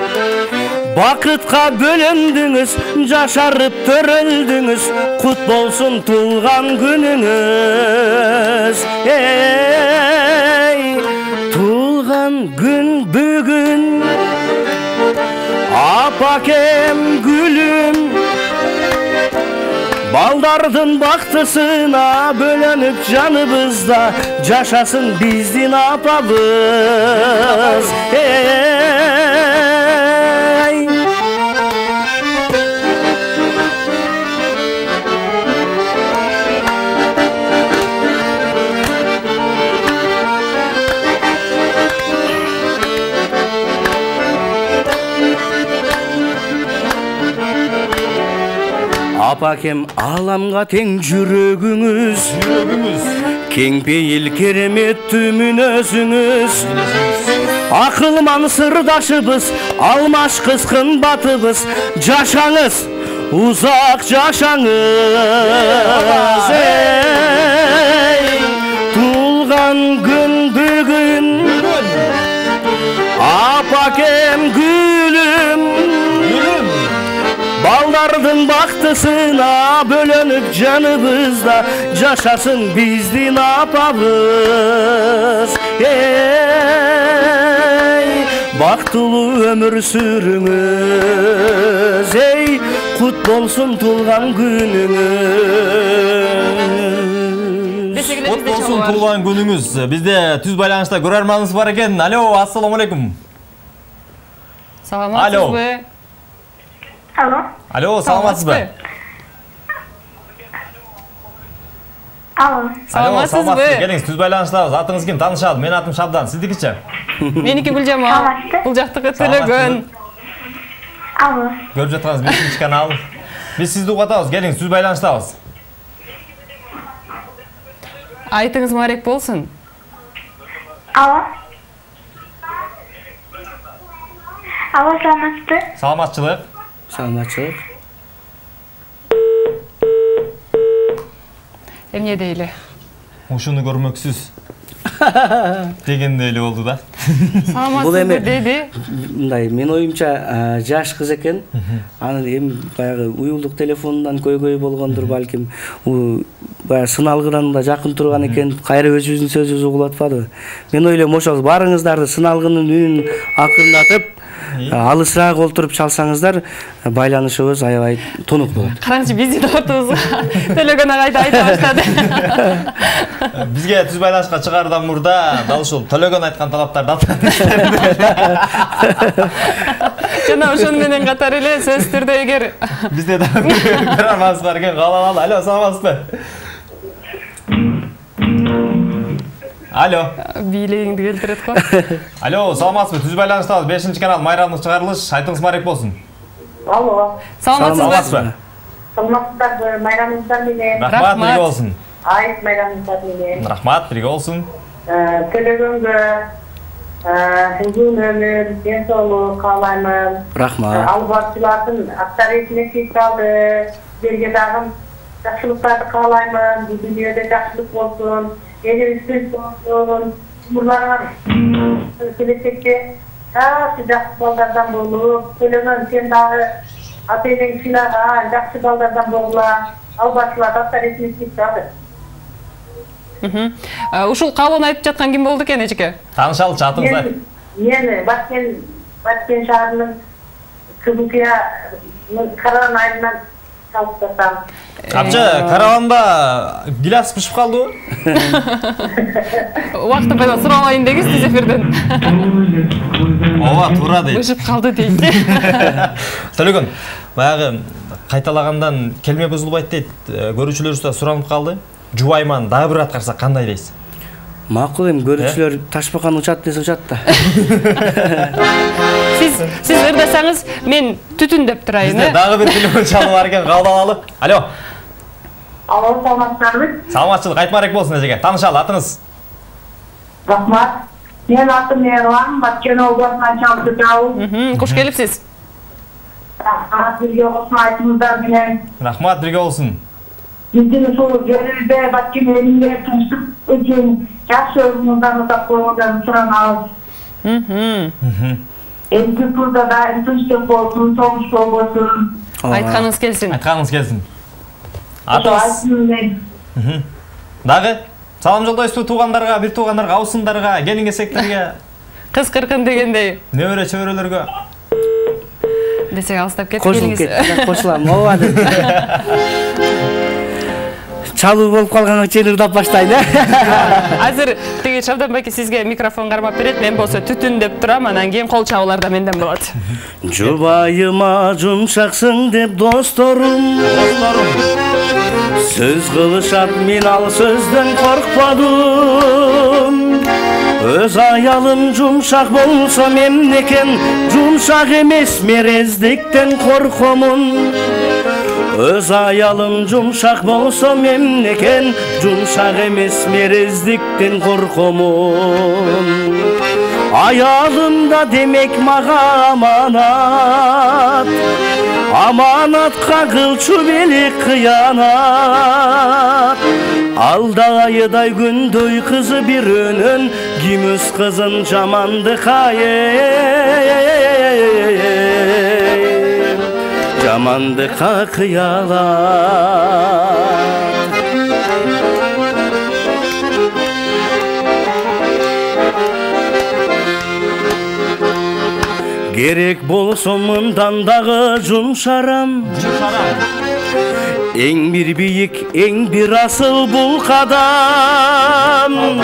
Бакытка бөлөндүңүз, жашарып төрөлдүңүз, кут болсун туулган күнүңүз. Эй, туулган күн бүгүн, апакем гүлүм. Балдардын бактысына бөлөнүп жаныбызда, жашасын биздин апабыз. Апакем, аламга тең жүрөгүңүз, кең пейил кереметтүү мүнөзүңүз. Акылман сырдашыбыз, алмашкыз кымбатыбыз, жашаңыз, узак жашаңыз. Туулган күн бүгүн, апакем гүлүм. Балдардын бактысына бөлөнүп жаныбызда, жашасын биздин апабыз. Эй, бактылуу өмүр сүрүңүз, эй, кут болсун туулган күнүңүз. Кут болсун туулган күнүңүз. Бизде түз байланышта көрөрманыбыз бар экен. Алло, ассаламу алейкум. Саламатсызбы? Алло. Алло, саламатсызбы? Алло. Саламатсызбы? Келиңиз, түз байланыштабыз. Атыңыз ким? Таанышалы. Менин атым Шабдан. Сиздикичи? Меники Гүлжамал. Бул жактыкы Төлөгөн. Алло. Көрүп жатканыңыз бешинчи канал. Биз сизди угатабыз. Келиңиз, түз байланыштабыз. Айтыңыз маарек болсун. Алло. Алло, саламатсызбы? Саламатчылык. Саламатчылык. Эмне дейли? Ушуну көрмөксүз. Дегенде эле болду да. Саламатсызбы деди. Мындай, мен оюмча жаш кыз экен. Анын эми баягы уюлдук телефонунан көйгөй болгондур балким. Баягы сыналгыдан да жакын турган экен. Кайра өзүбүздүн сөзүбүздү угулуп атпадыбы? Мен ойлойм, ошол барыңыздарды сыналгынын үнүн акырындатып, алысыраак олтуруп чалсаңыздар, байланышыбыз аябай тонук болот. Караңчы, бизди да отубузга Төлөгөн агайды айта баштады. Бизге түз байланышка чыгаардан мурда дал ушул Төлөгөн айткан талаптарды атат. Жана ошону менен катар эле сөзсүз түрдө эгер бизде да программабыз бар экен, кабыл алалы. Алло, саламатсызбы? Алло. Бийлегиңди келтирет го. Алло, саламатсызбы? Түз байланыштабыз. бешинчи канал майрамдык чыгарылыш. Айтыңыз маарек болсун. Алло. Саламатсызбы? Саламатсыздарбы? Майрамыңыздар менен. Рахмат, бирге болсун. Айт майрамыңыздар менен. Рахмат, бирге болсун. Төлөгөнгө uzun ömür, dен соолук каалаймын. Рахмат. Албатчылардын авторитетине чек алды. Силерге дагы жакшылыктарды каалаймын. Бул дүйнөдө жакшылык болсун. Элибиз болсун. Умурларыңар келечекте жакшы жакшы балдардан болуп, Төлөгөн сен дагы ата энең сыйлаган жакшы балдардан болгула. Албатчылар авторитетине чек алды. Ушул каалоону айтып жаткан ким болду экен эжеке? Таанышалычы, атыңыз айт. Мен Баткен Баткен шаарынын Кызылкыя караван айылынан чалып жатам. Апчы, караванда гиляс бышып калдыбы? Убакыты пайда суралайын дегиз түз эфирден. Ооба, туура дейт. Бышып калды дейт. Төлөгөн, баягы кайталагандан келме бузулбайт дейт. Көрүүчүлөрүбүз да суранып калды. Жубайман дагы бир аткарса кандай дейсиз? Макул эми, көрүүчүлөр ташбакан учат десе учат да. Сиз сиз ырдасаңыз мен түтүн деп турайын, э? Бизде дагы бир телефон чалып бар экен, кабыл алалы. Алло. Алло, саламатсыздарбы? Саламатчылык, айтмарек болсун эжеке. Таанышалы, атыңыз? Рахмат. Мен атым Эрлан, Баткен областынан чалып жатабыз. Куш келипсиз. Рахмат, бирге болсун айтыңыздар менен. Рахмат, бирге болсун. Биздин ушул жерибизде Баткен элинде тынчтык үчүн жакшы өзүңүздөрдү тап койгондорун суранабыз. Эмки турда да тынчтык болсун, согуш болбосун. Айтканыңыз келсин. Айтканыңыз келсин. Атыңыз? Дагы салам жолдойсузбу туугандарга, бир туугандарга, абысындарга, келин кесектерге? Кыз кыркын дегендей. Небере чөбөрөлөргө? Десек алыстап кетип келиңиз. Кошулуп кетти, кошулам. Ооба деп. Чалуу болуп калганга чейин ырдап баштайын, э? Азыр тиги Шабдан байке сизге микрофон кармап берет, мен болсо түтүн деп турам, анан кийин кол чабуулар да менден болот. Жубайыма жумшаксың деп досторум, сөз кылышат, мен ал сөздөн коркпадым. Өз аялым жумшак болсо мемнекен, жумшак эмес мерездиктен коркомун. Өз аялым жумшак болсо мемнекен, жумшак эмес мерездиктен коркомун. Аялым да демек мага аманат, аманатка кылчу бели кыянат. Алда айдай күндөй кызы бир өнөн, ким өз кызын жамандыкка жамандыкка кыялат. Керек болсо мындан дагы жумшарам, эң бир бийик, эң бир асыл бул кадам.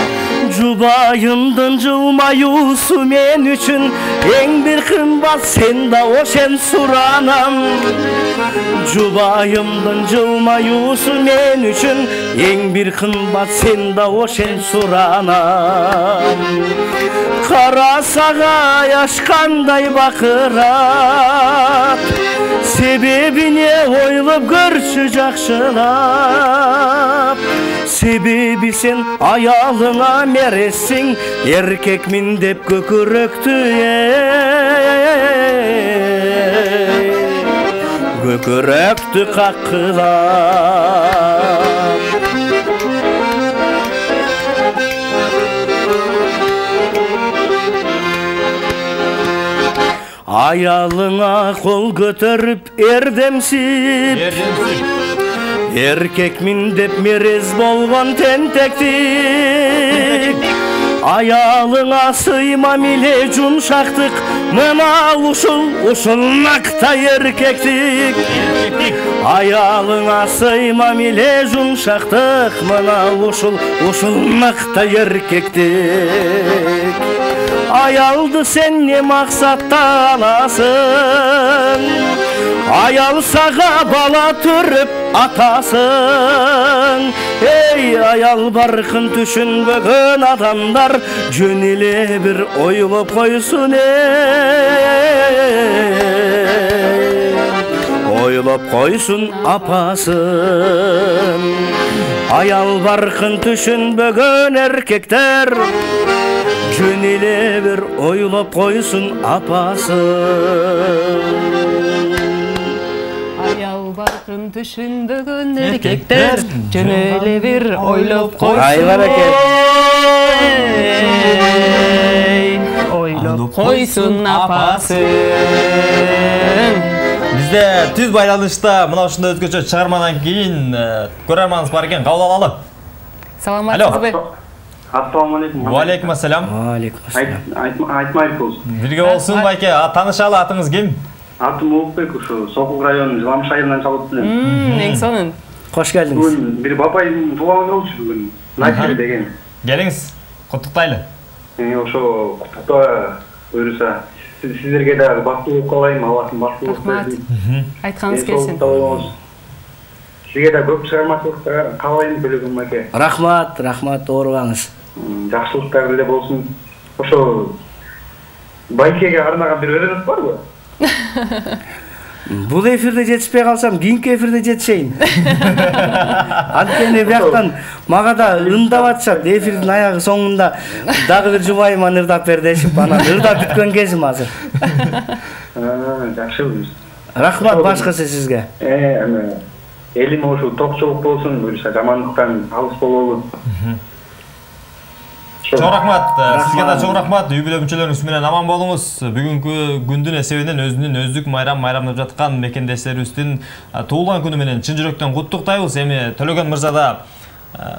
Жубайымдын жылмаюусу мен үчүн эң бир кымбат, сен да ошен суранам. Жубайымдын жылмаюусу мен үчүн эң бир кымбат, сен да ошен суранам. Кара сагай ашкандай бакырат, себебине ойлоп көрчү жакшылап. Себеби сен аялыңа мерессиң, эркекмин деп көкүрөктү көкүрөктү каккылап. Аялыңа кол көтөрүп эрдемсип, эркекмин деп мерез болгон тентектик. Аялыңа сыймам эле жумшактык, мына ушул ушул нактай эркектик. Аялыңа сыймам эле жумшактык, мына ушул ушул нактай эркектик. Аялды сен не максатта аласың? Аял сага бала төрүп атасың. Эй, аял баркын түшүнбөгөн адамдар жөн эле бир ойлоп койсун, эй, ойлоп койсун апасын. Аял баркын түшүнбөгөн эркектер жөн эле бир ойлоп койсун апасын. Аял баркын түшүнбөгөн эркектер жөн эле бир ойлоп койсун. Ай баракет. Ойлоп койсун апасын. Бизде түз байланышта мына ушундай өзгөчө чыгармадан кийин көрөрманыбыз бар экен, кабыл алалы. Саламатсызбы? Ассаламу алейкум. Ва алейкум ассалам. Ва алейкум ассалам. Айтмайбек болсун. Бирге болсун байке. Таанышалы, атыңыз ким? Атым Улукбек, ушу Сокул районунун Жыламыш айылынан чалып элем. Эң сонун. Кош келдиңиз. Бүгүн бир бабайдын туулган күнү болчу бүгүн. Насир деген. Келиңиз, куттуктайлы. Ошо куттуктоо буюрса, сиздерге да бактылуу каалайм, Аллахтын бактылуу берсин. Айтканыңыз келсин. Сизге да көп чыгармачылыктар каалайм, Бөлөгүн байке. Рахмат, рахмат, оорубаңыз. Жакшылыктар эле болсун. Ошо байкеге арнаган бир өрөөнүз барбы? Бул эфирде жетишпей калсам, кийинки эфирде жетишейин. Анткени бияктан мага да ындап атышат. Эфирдин аягы соңунда дагы бир жубайыма ырдап бер дешип, анан ырдап бүткөн кезим азыр. Жакшы. Рахмат башкысы сизге. Э, элим ошо токчулук болсун, буюрса жамандыктан алыс болобу. Чоң рахмат, сизге да чоң рахмат. Үй бүлө мүчөлөрүңүз менен аман болуңуз. Бүгүнкү күндүн эсебинен өзүнүн өздүк майрам майрамдап жаткан мекендештерибиздин туулган күнү менен чын жүрөктөн куттуктайбыз. Эми Төлөгөн мырза да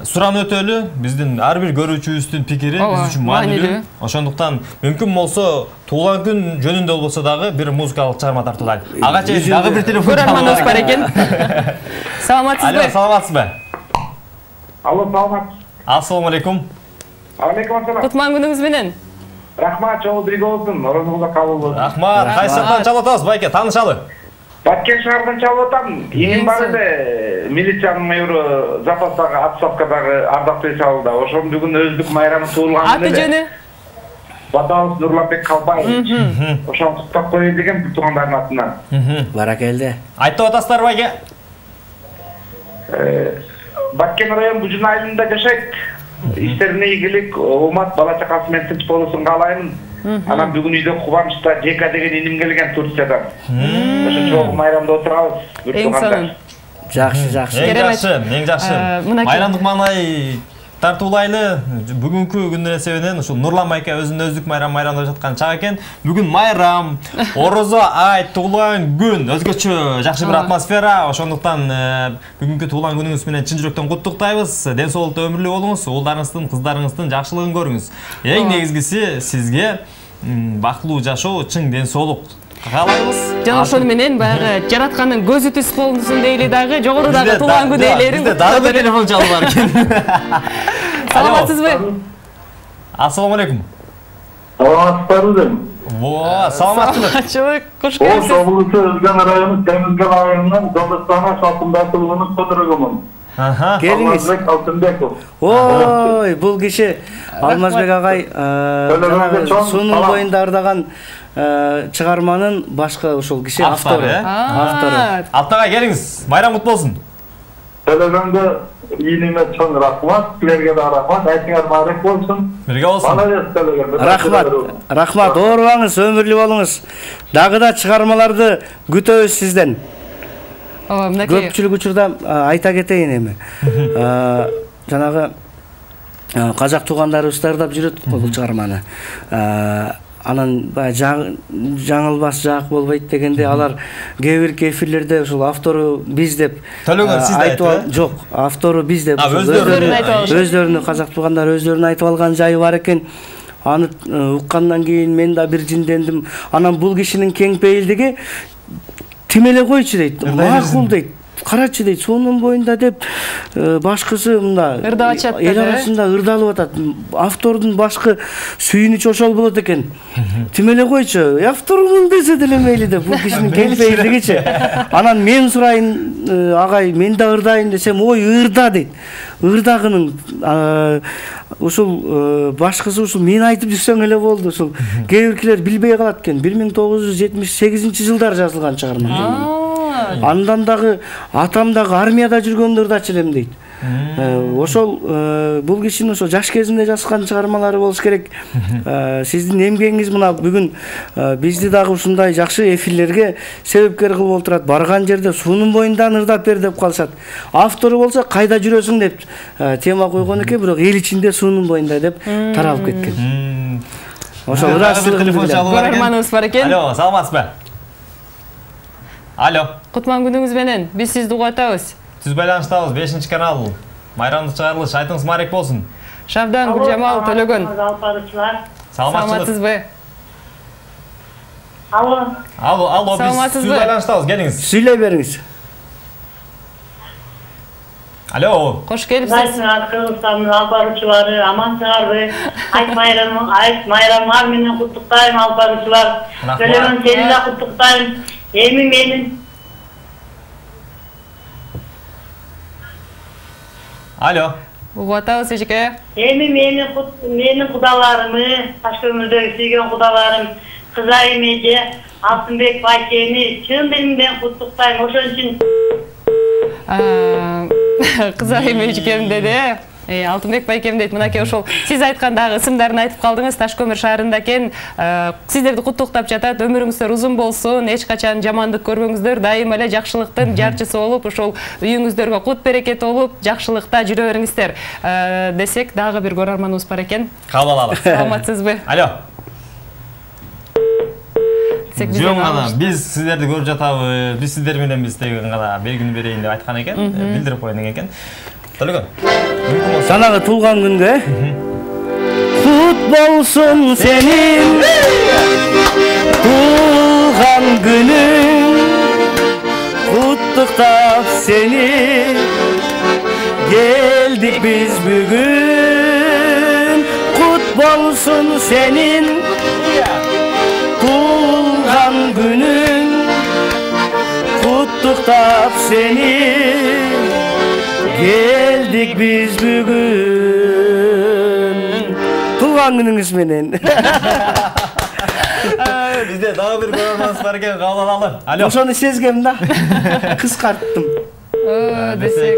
суран өтөлү, биздин ар бир көрүүчүбүздүн пикири биз үчүн маанилүү. Ошондуктан мүмкүн болсо туулган күн жөнүндө болбосо дагы бир музыкалык чыгарма тартуулайлы. Ага чейин дагы бир телефон көрөрманыбыз бар экен. Саламатсызбы? Алло, саламатсызбы? Алло, саламат. Ассаламу алейкум. Алейкум ассалам. Кутман күнүңүз менен. Рахмат, жолу бирге болсун. Орозуңузда кабыл болсун. Рахмат. Кайсы жактан чалып атабыз, байке? Таанышалы. Баткен шаарынан чалып атам. Эң бар эле милициянын майору запастагы отставкадагы ардактуу чалды. Ошонун бүгүн өздүк майрамы туулган күнү. Аты жөнү? Батабыз Нурланбек Калбаевич. Ошону куттуктап коеюн деген туугандардын атынан. Баракелде. Айтып атасыздар, байке? Баткен район Бужун айылында жашайт. Иштерине ийгилик, оомат, бала чакасы менен тынч болуусун каалаймын. Анан бүгүн үйдө кубанычта Жека деген иним келген Турциядан. Ошо чоң майрамда отурабыз. Эң сонун. Жакшы, жакшы. Эң жакшы, эң жакшы. Майрамдык маанай тартуулайлы. Бүгүнкү күндүн эсебинен ушул Нурлан байке өзүнүн өздүк майрам майрамдап жаткан чак экен. Бүгүн майрам, орозо айт, туулган күн, өзгөчө жакшы бир атмосфера. Ошондуктан бүгүнкү туулган күнүңүз менен чын жүрөктөн куттуктайбыз. Ден соолукта өмүрлүү болуңуз, уулдарыңыздын, кыздарыңыздын жакшылыгын көрүңүз. Эң негизгиси сизге бактылуу жашоо, чың ден соолук каалайбыз. Жана ошону менен баягы жараткандын көзү түз болсун дейли дагы, жогорудагы туулган күн ээлерин. Бизде дагы бир телефон чалып бар экен. Саламатсызбы? Ассаламу алейкум. Саламатсыздарбы? Во, саламатчылык. Саламатчылык, кош О, келипсиз. облусу Өзгөн району Темиргал айылынан Жолдостана Шалтымбаевдин которогумун. Аха. Келиңиз. Алмазбек Алтынбеков. Ой, бул киши Алмазбек агай жанагы суунун боюнда ырдаган чыгарманын башкы ошол киши автору. Автору. Алтыга келиңиз. Майрам кут болсун. Төлөгөнгө ийниме чоң рахмат, силерге да рахмат, айтыңар баарек болсун. Бирге болсун. Молодец төлөгөн. Рахмат. Рахмат, оорубаңыз, өмүрлүү болуңуз. Дагы да чыгармаларды күтөбүз сизден. Ооба, мынакей. Көпчүлүк учурда айта кетейин эми. Жанагы казак туугандарыбыз ырдап жүрөт бул чыгарманы. Анан баягы жаңылбас жак болбойт дегенде алар кээ бир эфирлерде ушул автору биз деп Төлөгөн сиз айтып айтып жок, автору биз деп өздөрүн айтып алышат. өздөрүнүн казак туугандар өздөрүн айтып алган жайы бар экен. Аны уккандан кийин мен да бир жиндендим. Анан бул кишинин кең пейилдиги тим эле койчу дейт. Макул дейт. Карачы дейт, суунун боюнда деп башкысы мында ырдап атышат. Эл арасында ырдалып атат. Автордун башкы сүйүнүчү ошол болот экен. Тим эле койчу, авторумун десе деле мейли деп бул кишинин кең пейилдигичи. Анан мен сурайын, агай, мен да ырдайын десем, ой, ырда дейт. Ырдагынын ушул башкысы ушул мен айтып жүрсөң эле болду. Ушул кээ биркилер билбей калат экен. бир миң тогуз жүз жетимиш сегизинчи жылдар жазылган чыгарма. Андан дагы атам дагы армияда жүргөндө ырдачу элем дейт. Ошол бул кишинин ошо жаш кезинде жазган чыгармалары болуш керек. Сиздин эмгегиңиз мына бүгүн бизди дагы ушундай жакшы эфирлерге себепкер кылып отурат. Барган жерде суунун боюндан ырдап бер деп калышат. Автору болсо кайда жүрөсүң деп тема койгон экен, бирок эл ичинде суунун боюнда деп таралып кеткен. Ошол көрөрманыбыз бар экен. Алло, саламатсызбы? Алло. Кутман күнүңүз менен. Биз сизди угуп атабыз. Түз байланыштабыз, бешинчи канал. Майрамдык чыгарылыш, айтыңыз марек болсун. Шабдан, Гүлжамал, Төлөгөн. Саламатсызбы? Алло. Алло, алло, биз түз байланыштабыз, келиңиз. Сүйлөй бериңиз. Алло. Кош келипсиз. Кыргызстандын алып баруучулары амансыңарбы? Айт майрамың, айт майрамыңар менен куттуктайм алып баруучулар. Төлөгөн сени да куттуктайм. Эми менин Алло. Угуп атабыз эжеке. Эми менин менин кудаларымы, Ташкөмүрдөгү сүйгөн кудаларым, Кызайым эже, Алтынбек байкени чын дилимден куттуктайм. Ошон үчүн Кызайым эжекем деди. Алтынбек байкем дейт, мынакей ошол сиз айткан дагы ысымдарын айтып калдыңыз. Ташкөмүр шаарында экен. Сиздерди куттуктап жатат. Өмүрүңүздөр узун болсун. Эч качан жамандык көрбөңүздөр. Дайыма эле жакшылыктын жарчысы болуп, ошол үйүңүздөргө кут берекет болуп, жакшылыкта жүрө бериңиздер. Десек, дагы бир көрөрманыбыз бар экен. Кабыл алабыз. Саламатсызбы? Алло. Жөн гана биз сиздерди көрүп жатабыз. Биз сиздер менен биз деген гана белгини берейин деп айткан экен. Билдирип коеюн деген экен. Төлөгөн. Жанагы туулган күнгө кут болсун сенин туулган күнүң, куттуктап сени келдик биз бүгүн. Кут болсун сенин туулган күнүң, куттуктап сени келдик биз бүгүн. Туулган күнүңүз менен. Бизде дагы бир көрөрманыбыз бар экен, кабыл алалы. Алло. Ошону сезгем да. Кыскарттым. Десек.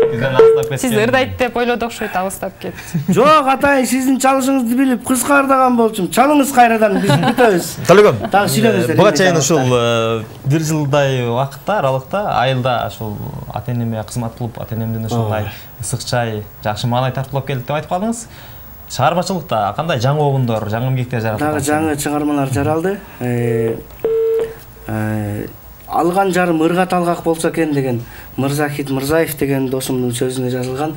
Сиз ырдайт деп ойлодук, окшойт, алыстап кетти. Жок, атайын сиздин чалышыңызды билип кыскардаган болчумун. Чалыңыз кайрадан, биз күтөбүз. Төлөгөн. Дагы сүйлөңүздөр. Буга чейин ушул бир жылдай убакытта, аралыкта айылда ушул ата-энеме кызмат кылып, ата-энемден ушундай ысык чай, жакшы маанай тартуулап келдик деп айтып калдыңыз. Чыгармачылыкта кандай жаңы обундор, жаңы эмгектер жаратылды? Дагы жаңы чыгармалар жаралды. Алган жарым ырга талгак болсо экен деген Мырзахит Мырзаев деген досумдун сөзүнө жазылган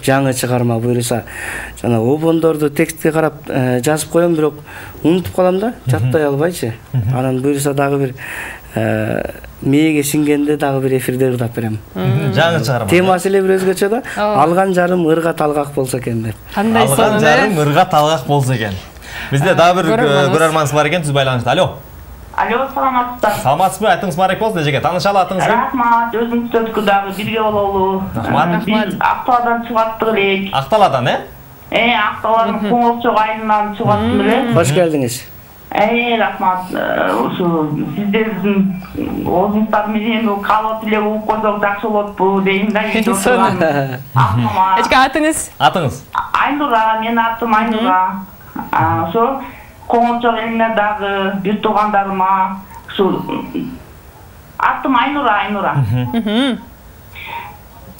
жаңы чыгарма. Буюрса, жана обондорду текстке карап жазып коем, бирок унутуп калам да, жаттай албайчы. Анан буюрса дагы бир мээге сиңгенде дагы бир эфирде ырдап берем. Жаңы чыгарма. Темасы эле бир өзгөчө да. Алган жарым ырга талгак болсо экен деп. Кандай сонун? Алган жарым ырга талгак болсо экен. Бизде дагы бир көрөрманыбыз бар экен, түз байланышта. Алло. Алло, саламатсыздар. Саламатсызбы? Айтыңыз Марек болсун эжеге. Таанышалы атыңыз ким? Рахмат, өзүңүздөргө дагы бирге бололу. Рахмат. Биз Акталадан чыгып аттык элек. Акталадан, э? Э, Акталадан Коңолчок айылынан чыгып аттым эле. Хош келдиңиз. Э, рахмат. Ушу сиздердин оозуңуздар менен калоо тилеп угуп койсок жакшы болотпу дейм да. Эчке атыңыз? Атыңыз? Айнура, менин атым Айнура. Ошо Коңолчок элине дагы бир туугандарыма ушу атым Айнура, Айнура.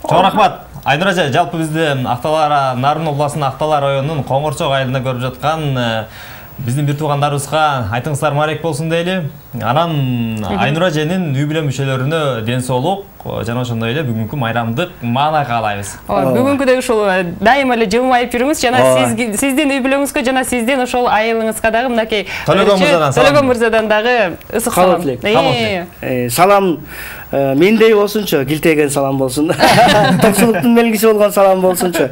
Чоң рахмат. Айнура эже, жалпы бизде Акталар Нарын областынын Акталар районунун Коңорчок айылында көрүп жаткан биздин бир туугандарыбызга айтыңыздар Марек болсун дейли. Анан Айнура эженин үй бүлө мүчөлөрүнө ден соолук жана ошондой эле бүгүнкү майрамдык маанай каалайбыз. Бүгүнкүдөй ушул дайыма эле жылмайып жүрүңүз жана сиздин үй бүлөңүзгө жана сиздин ошол айылыңызга дагы мынакей Төлөгөн мырзадан дагы ысык салам. Салам мендей болсунчу, килтеген салам болсун. Токчулуктун белгиси болгон салам болсунчу.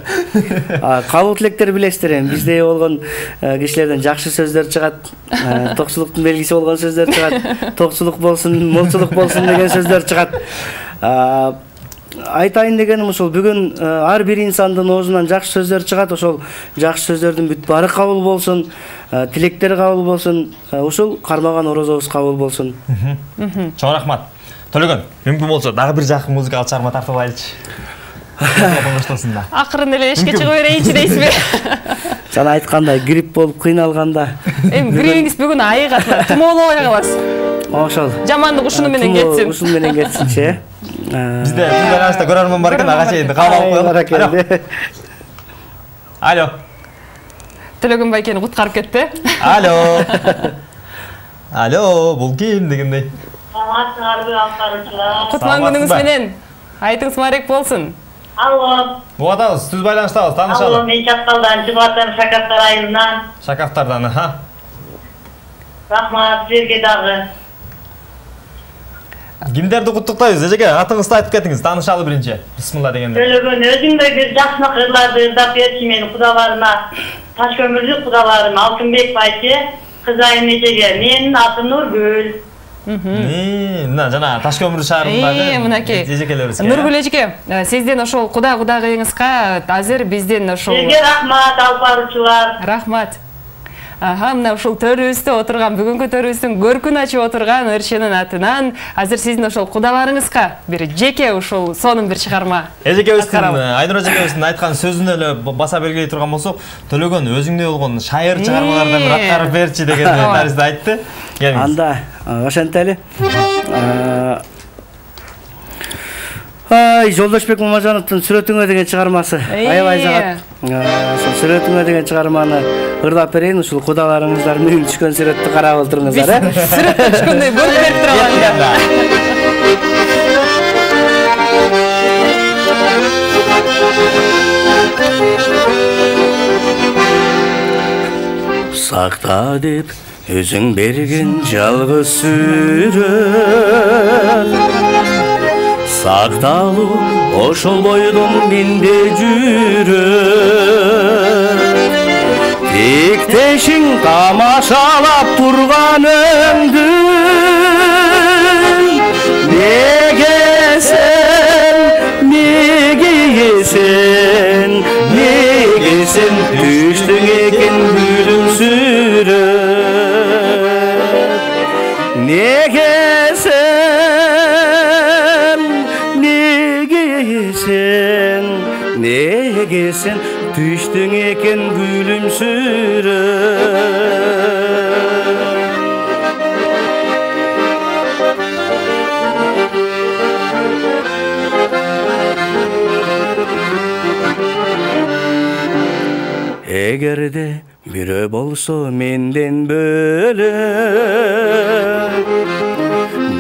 Кабыл тилектер билесиздер эми биздей болгон кишилерден жакшы сөздөр чыгат. Токчулуктун белгиси болгон сөздөр чыгат. Токчулук болсун, молчулук болсун деген сөздөр чыгат. Айтайын дегеним ушул бүгүн ар бир инсандын оозунан жакшы сөздөр чыгат, ошол жакшы сөздөрдүн бүт баары кабыл болсун, тилектер кабыл болсун, ушул кармаган орозобуз кабыл болсун. Чоң рахмат. Төлөгөн, мүмкүн болсо дагы бир жакын музыкалык чыгарма тартып алайлычы. Акырын эле эшикке чыгып берейинчи дейсизби? Жана айткандай, грипп болуп кыйналганда. Эми гриппиңиз бүгүн айыгат, тумоолобой каласыз. Ошол. Жамандык ушуну менен кетсин. Ушуну менен кетсинчи, э? Бизде байланышта көрөрмөн бар экен, ага чейин кабыл алып коелу. Алло. Төлөгөн байкени куткарып кетти. Алло. Алло, бул ким дегендей. Кутлан күнүңүз менен. Айтыңыз Марек болсун. Алло. Буатабыз, түз байланыштабыз, таанышалы. Алло, мен Чакалдан чыгып атам, Шакактар айылынан. Шакактардан, ха. Рахмат, сизге дагы. Кимдерди куттуктайбыз эжеге? Атыңызды айтып кетиңиз, таанышалы биринчи. Бисмилла дегенде. Төлөгөн өзүңдөгү жакшы кырларды ырдап берчи менин кудаларыма. Ташкөмүрдүк кудаларым Алтынбек байчы, Кызайым эжеге. Менин атым Нургүл. Мына жана Ташкөмүр шаарындагы мынакей эжекелерибиз. Нургүл эжеке, сизден ошол куда кудагыйыңызга азыр бизден ошол Сизге рахмат алып баруучулар. Рахмат. Аха, мына ушул төрүбүздө отурган, бүгүнкү төрүбүздүн көркүн ачып отурган ырчынын атынан азыр сиздин ошол кудаларыңызга бир жеке ушул сонун бир чыгарма. Эжекебиздин, Айнура эжекебиздин айткан сөзүнө эле баса белгилей турган болсок, Төлөгөн өзүңдөй болгон шайыр чыгармалардан бир аткарып берчи деген таризде айтты. Анда ошентели. Ай, Жолдошбек Мамажановдун Сүрөтүңө деген чыгармасы. Аябай жагат. Ошол Сүрөтүңө деген чыгарманы ырдап берейин, ушул кудаларыңыздар менин түшкөн сүрөттү карап отуруңуздар, э? Сүрөт түшкөндөй көрүп берип турган. Сакта деп өзүң берген жалгыз сүрөт, сакталуу ошол бойдон менде жүрөт. Тиктешиң тамашалап турганымды неге сен, неге сен, неге сен түштүң экен күлүмсүрөп. Неге сен, неге сен, неге сен түштүң экен күлүмсүрөп. Эгерде бирөө болсо менден бөлөк,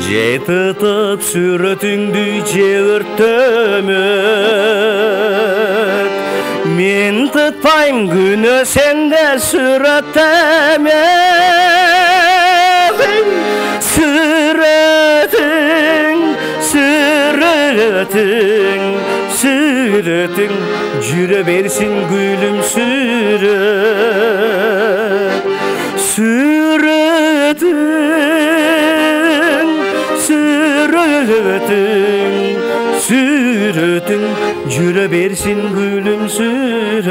же тытып сүрөтүңдү же өрттөмөк, мен тытпайм күнөө сенде сүрөттөмөк. Сүрөтүң, сүрөтүң, сүрөтүң жүрө берсин күлүмсүрөп. сүрөтүң сүрөтүң сүрөтүң жүрө берсин күлүмсүрөп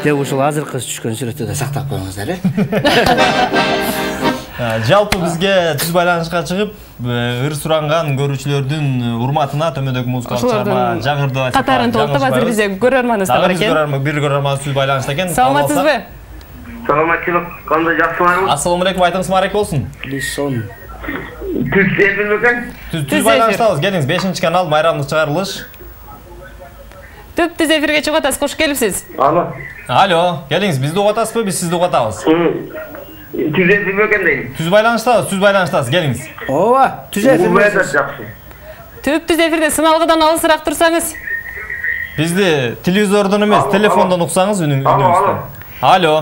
деп ушул азыркы түшкөн сүрөттү да сактап коюңуздар, э? Жалпы бизге түз байланышка чыгып, ыр суранган көрүүчүлөрдүн урматына төмөдөгү музыкалык чыгарма жаңырды катарын толуктап азыр бизде көрөрманыбыз да бар экен. Бир көрөрманыбыз түз байланышта экен. Саламатсызбы? Саламатчылык, кандай жакшыларыңыз? Ассаламу алейкум, айтыңыз марек болсун. Лисон. Түз эфир бекен? Түз байланыштабыз, келиңиз, бешинчи канал майрамдык чыгарылыш. Түп түз эфирге чыгып атасыз, кош келипсиз. Алло. Алло, келиңиз, бизди угуп атасызбы, биз сизди угуп атабыз. Түз эфир бекен дейм. Түз байланыштабыз, түз байланыштабыз, келиңиз. Ооба, түз эфир. Жакшы. Түп түз эфирде сыналгыдан алысыраак турсаңыз. Бизди телевизордон эмес, телефондон уксаңыз үнүңүздү. Алло.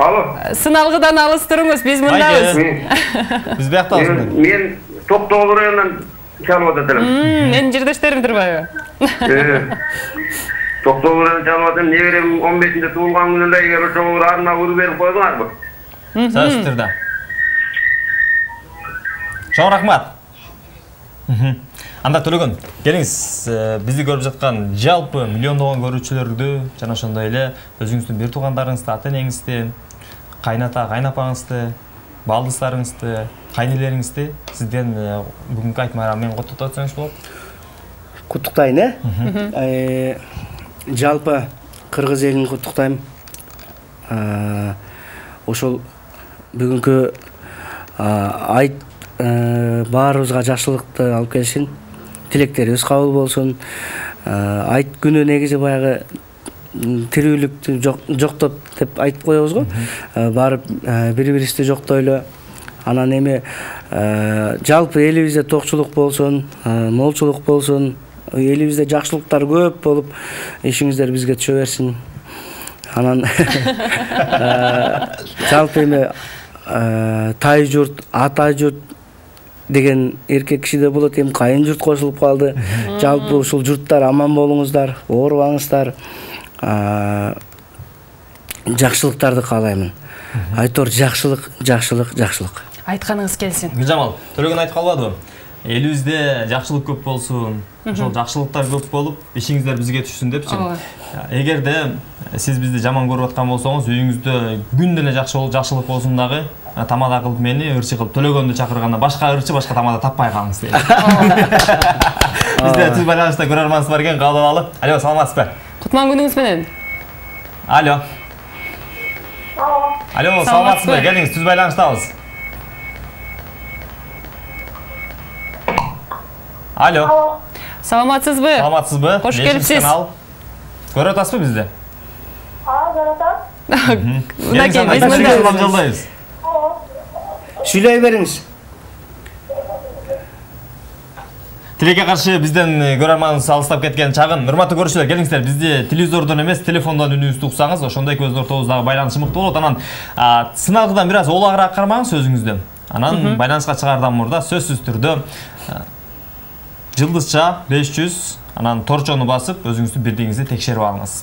Алло. Сыналгыдан алыс туруңуз, биз мындабыз. Биз бияктабыз. Мен Токтогул районунан чалып атам. Менин жердештерим турбайбы? Токтогул районунан чалып атам. Неберем он бешинде туулган күнүндө эгер ошого арна уруп берип койдуңарбы? Сөзтүрдө. Чоң рахмат. Анда Төлөгөн, келиңиз, бизди көрүп жаткан жалпы миллиондогон көрүүчүлөрдү жана ошондой эле өзүңүздүн бир туугандарыңызды, ата-энеңизди, кайната, кайнапаңызды, балдыстарыңызды, кайнелериңизди сизден бүгүнкү айт майрамы менен куттуктап өтсөңүз болот. Куттуктайын, э? Жалпы кыргыз элин куттуктайм. Ошол бүгүнкү айт баарыбызга жакшылыкты алып келишин, тилектерибиз кабыл болсун. Айт күнү негизи баягы тирүүлүктү жоктоп деп айтып коебуз го. Барып бири-бирибизди жоктойлу. Анан эми жалпы элибизде токчулук болсун, молчулук болсун, элибизде жакшылыктар көп болуп, ишиңиздер бизге түшө берсин. Анан жалпы эми тай журт, ата журт деген эркек кишиде болот, эми кайын журт кошулуп калды. Жалпы ушул журттар аман болуңуздар, оорубаңыздар. Жакшылыктарды каалаймын. Айтор жакшылык, жакшылык, жакшылык. Айтканыңыз келсин. Гүлжамал, Төлөгөн айтып калбадыбы? Элибизде жакшылык көп болсун, ошол жакшылыктар көп болуп, ишиңиздер бизге түшсүн депчи. Эгерде сиз бизди жаман көрүп аткан болсоңуз, үйүңүздө күн деле жакшылык болсун дагы, тамада кылып мени, ырчы кылып Төлөгөндү чакырганда башка ырчы, башка тамада таппай калыңыз дейт. Бизде түз байланышта көрөрманыбыз бар экен, кабыл алалы. Алло, саламатсызбы? Кутман күнүңүз менен. Алло. Алло, саламатсызбы? Келиңиз, түз байланыштабыз. Алло. Саламатсызбы? Саламатсызбы? Кош келипсиз. Көрүп атасызбы бизди? Aa, görüyorum. Мынакей, биз мындайбыз. Сүйлөй бериңиз. Тилекке каршы бизден көрөрманыбыз алыстап кеткен чагын. Урматтуу көрүүчүлөр, келиңиздер, бизди телевизордон эмес, телефондон үнүбүздү уксаңыз, ошондой көздүн ортобуздагы байланыш мыкты болот. Анан сыналгыдан бир аз олагыраак кармаңыз өзүңүздү. Анан байланышка чыгаардан мурда сөзсүз түрдө жылдызча беш жүз, анан торчону басып, өзүңүздүн бирдигиңизди текшерип алыңыз.